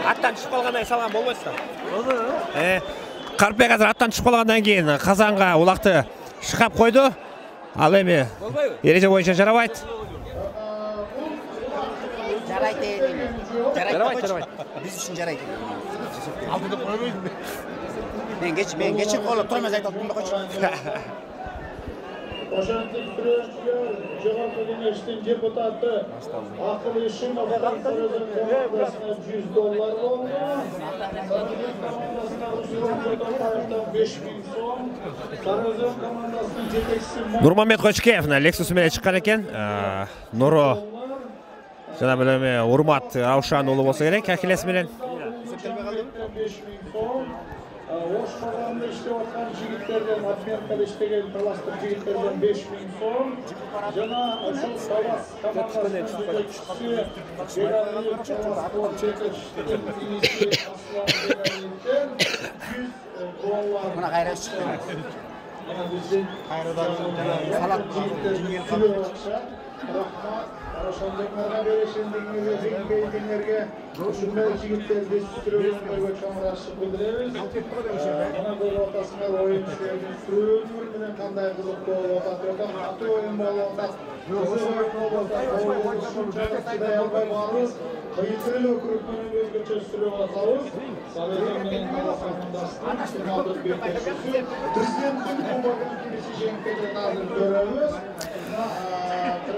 Аттан түшүп калгандан салган болбойт да. Э, Карпек азыр аттан түшүп калгандан кийин казанга улакты шыкап койду. Ал эми эреже боюнча жарабайт.
Жарайт эне. Жарайт, жарайт. Биз үчүн жарайт. Алдыда койбойдум. Мен кеч, мен кечирип колуп турмас айтып да койчу.
Ошентип сүрөчүлөр жогорку кеңештин депутаты Акыл Ишимов Сарызын командасына жүз доллар болду. Сарызын командасына беш миң сом. Сарызын командасынын жетекчиси
Нурмамет Кочкеев Lexus менен чыккан экен. Нуру жана билем Урмат Раушан уулу болсо керек, Ахиллес менен.
беш миң сом. Ош базарында иштеп аткан жигиттерден, Атмеркада иштеген таластык жигиттерден беш миң сом. Жана ушул Талас командасынын жетекчиси Бералиев спорт жетекчисинин иниси Аслан жүз доллар.
Мына кайра чыкты.
Мына биздин
Кайрадан салат жиңел
рахмат. Ошондойлорго беришиңерге, жеңбейдиңерге ушундай жигиттерди сүрөбөйгө чоңурашып билдиребиз. Мына көрүп атасыңар оюнчулардын сүрөөнү менен кандай кызыктуу болуп атат, өтө катуу оюн болуп атат. Кызык оюн болуп атат. Чыдай албай барыбыз. Кыйынкыр эле өкүрүктөн өзгөчө сүрөп атабыз. Сарыгын менен командасынын финалдык беттешүүсү президенттин кубогун кимиси жеңип кетет азыр көрөбүз.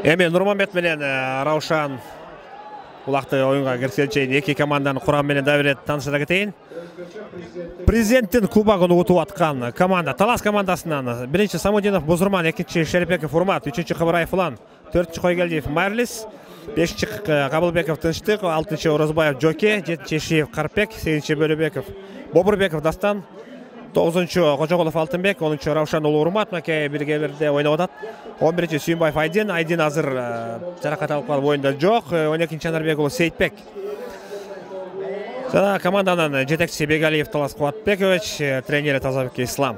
Эми Нурмамбет менен Раушан улакты оюнга киргизгенче эки команданын курамы менен да бир таанышыра кетейин. Президенттин кубогун утуп аткан команда Талас командасынан биринчи Самудинов Бузурман, экинчи Шерепеков Урмат, үчүнчү Кыбыраев Улан, төртүнчү Койгелдиев Марлис, бешинчи Кабылбеков Тынчтык, алтынчы Орозбаев Жоке, жетинчи Шиев Карпек, сегизинчи Бөлөбеков Бобурбеков Дастан, тогузунчу Кожоголов Алтынбек, онунчу Раушан уулу Урмат макей биргелерде ойноп атат. он биринчи Сүйүнбаев Айдин, Айдин азыр жаракат алып калып оюнда жок. он экинчи Анарбек уулу Сейитбек. Жана команданын жетекчиси Бегалиев Талас Кубатбекович, тренери Тазабек Ислам.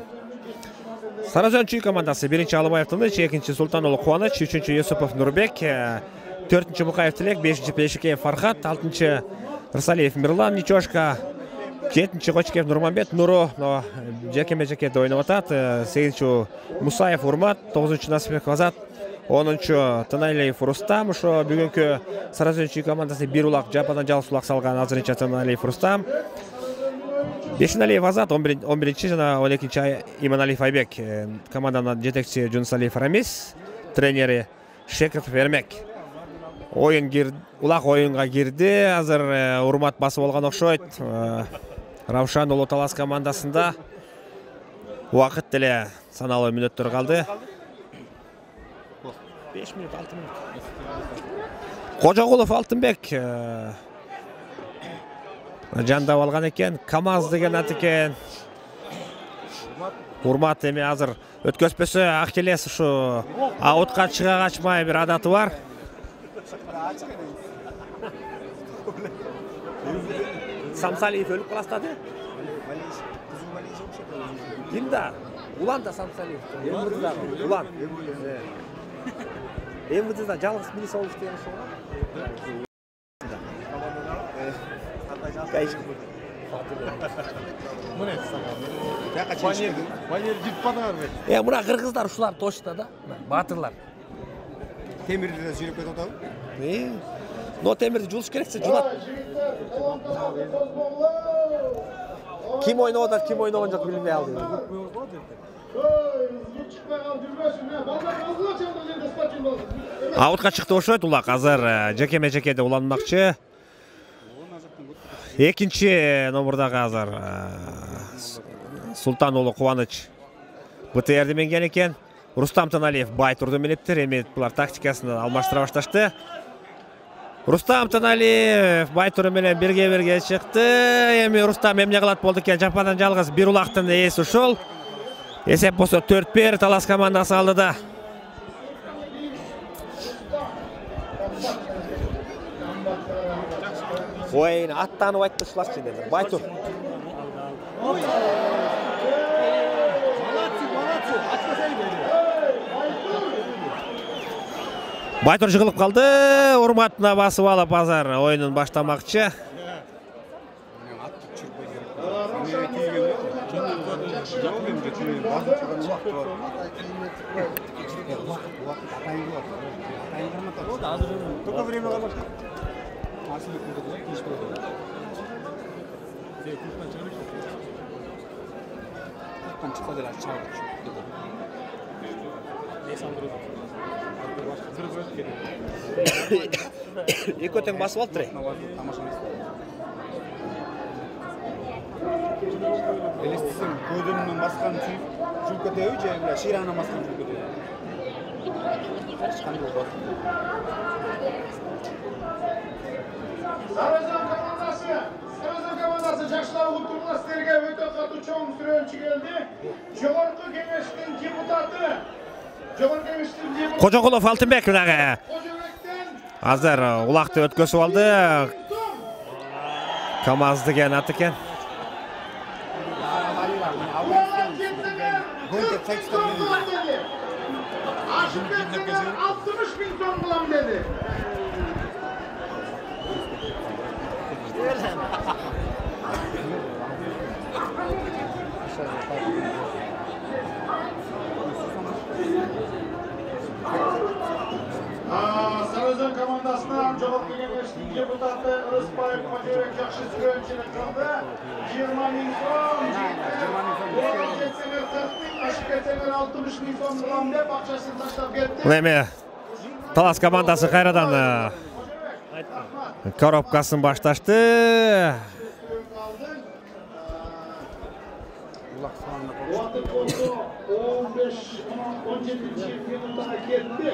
Сарызөнчү командасы биринчи Алыбаев Тыныч, экинчи Султан уулу Кубаныч, үчүнчү Юсупов Нурбек, төртүнчү Мукаев Тилек, бешинчи Пешикеев Фархат, алтынчы Рысалиев Мирлан Ничошка, жетинчи Кочкеев Нурмамбет Нуру жекеме-жекеде ойноп атат. сегизинчи Мусаев Урмат, тогузунчу Насипбеков Азат, онунчу Таналиев Рустам. Ошо бүгүнкү Сарызөнчү командасы бир улак жападан жалгыз улак салган азырынча Таналиев Рустам. Бешиналиев Азат, он биринчи жана он экинчи Иманалиев Айбек. Команданын жетекчиси Жунусалиев Рамис, тренери Шекетов Эрмек. Оюн кир, улак оюнга кирди. Азыр Урмат басып алган окшойт. Раушан уулу Талас командасында убакыт деле саналуу мүнөттөр калды. беш мүнөт, алты мүнөт. Кожоголов Алтынбек жандап алган экен. КамАЗ деген ат экен. Урмат эми азыр өткөзбөсө Ахиллес ушу аутка чыга качмай бир адаты бар. Самсалиев өлүп каластады. Ким да? Улан да Самсалиев. Эмирда Улан. Эмирда жалгыз милиция болуш деген ошо. Кайсы.
Мына банер, банер жип падарбы.
Э, мына кыргыздар ушулар точно да. Батырлар.
Темирде жүрүп кетип атабы?
Но темирди жуулуш керексе жуулат. Ким ойноп атат, ким ойногон жок билбей алды. Аутка чыкты ошойт улак. Азыр жекеме жекеде уланмакчы. Экинчи номурдагы азыр Султан уулу Кубаныч БТРди менген экен. Рустам Таналиев Байтурду менептир. Эми булар тактикасын алмаштыра башташты. Рустам Таналиев Байтур менен бирге-бирге чыкты. Эми Рустам эмне кылат болду экен? Жападан жалгыз бир улактын ээси ушул. Эсеп болсо төрт бир Талас командасы алдыда. Ой, аттанып айтпышыларчы dedi. Байтур. Байтур жыгылып калды. Урматына басып алып азыр оюнун баштамакчы. Эки тең басып алды.
Элестисем, көйдөнүнөн баскан жүк кетеби же эле ширанан баскан жүк кетеби.
Sarıcan komandası, Sarıcan komandası жаштар улуттугуна силерге өтө катуу чоң сүрөөнчү келди. Жогорку кеңештин депутаты, жогорку кеңештин депутаты
Кожокулов Алтынбек мынагы. Азыр улакты өткөзүп алды. КамАЗ деген ат экен.
алтымыш миң сом кылам dedi. Sarıcan komandasынан жогорку кеңештин депутаты Ырысбаев Кожобек жакшы сүрөөнчүлүк кылды. жыйырма миң сом, ашып кетсеңер алтымыш миң сом кылам деп акчасын таштап кетти.
Эми Талас командасы кайрадан коробкасын башташты.
Уақыт болсо он беш он жетинчи минутага кетти.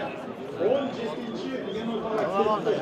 он жетинчи минутага кетти.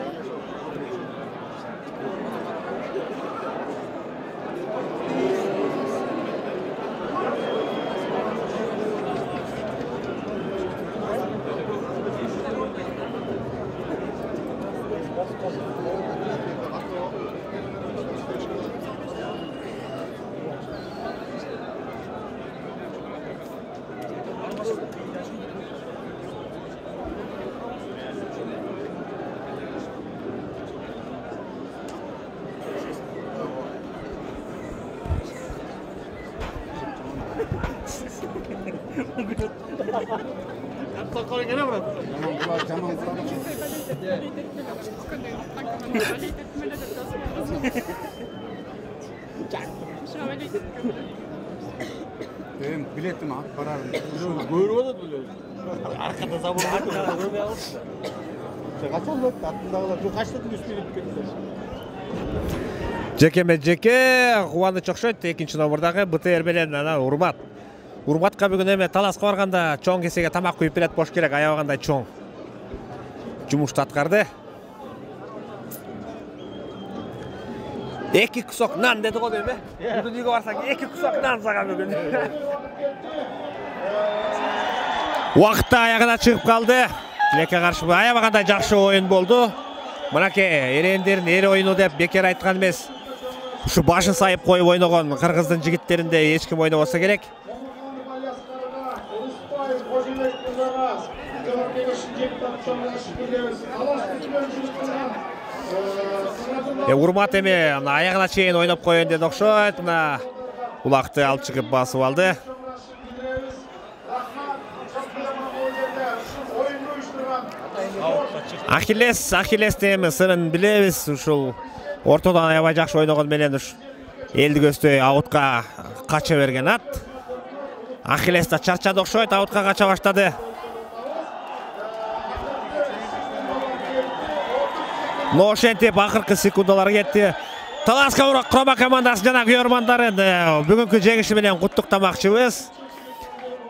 Benim biletim at param.
Көрүп атат беле. Аркада забор көрбөй алыпты.
Качан болот? Аттындагылар жок качтын үстүнө кетти.
Жекеме жеке Кубаныч окшойт. Экинчи номурдагы БТР менен ана Урмат. Урматка бүгүн эме Таласка барганда чоң кесеге тамак куюп берет болуш керек, аябагандай чоң жумушту аткарды. Эки кусок нан деди го деме? Бүгүн үйгө барсаң эки кусок нан сага бүгүн. Убакытта аягына чыгып калды. Тилекке каршы аябагандай жакшы оюн болду. Мынакей эрендердин эр оюну деп бекер айткан эмес. Ушу башын сайып коюп ойногон кыргыздын жигиттеринде эч ким ойнобосо керек. Урмат эми аягына чейин ойноп коеюн деди окшойт. Мына улакты алып чыгып басып алды. Ахиллес, Ахиллестин эми сырын билебиз. Ушул ортодон аябай жакшы ойногон менен уш элди көздөй аутка кача берген ат. Ахиллес да чарчады окшойт, аутка кача баштады. Но ошентип акыркы секундалар кетти. Таласка Курама командасы жана күйөрмандарын бүгүнкү жеңиши менен куттуктамакчыбыз.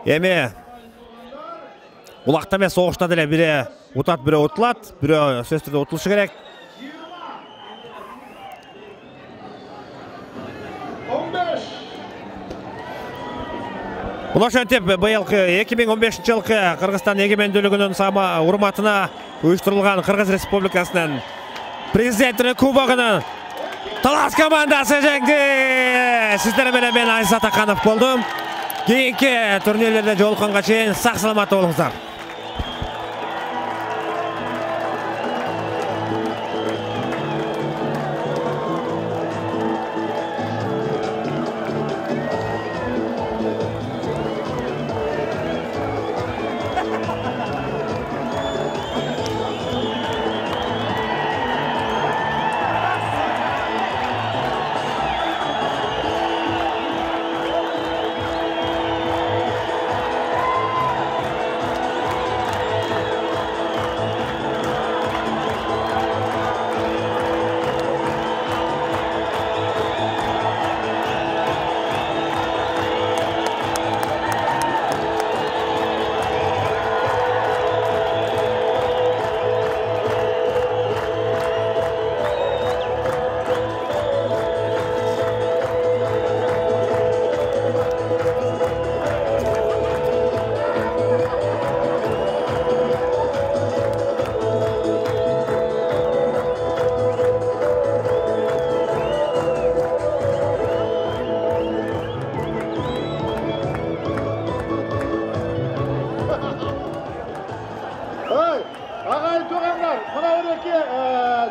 Эми улакта эмес, согушта деле бире утат, бире утулат, бире сөзсүз түрдө утулушу керек. Мына ошентип быйылкы эки миң он бешинчи жылкы Кыргызстан эгемендүүлүгүнүн сама урматына уюштурулган Кыргыз Республикасынын президенттин кубогунун Талас командасы жеңди. Сиздер менен мен Айзат Аканов болдум. Кийинки турнирлерде жолукканга чейин сак саламат болуңуздар.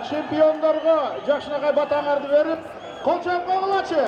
Чемпиондорго жакшынакай батаңарды берип, кол чапкан кылачы.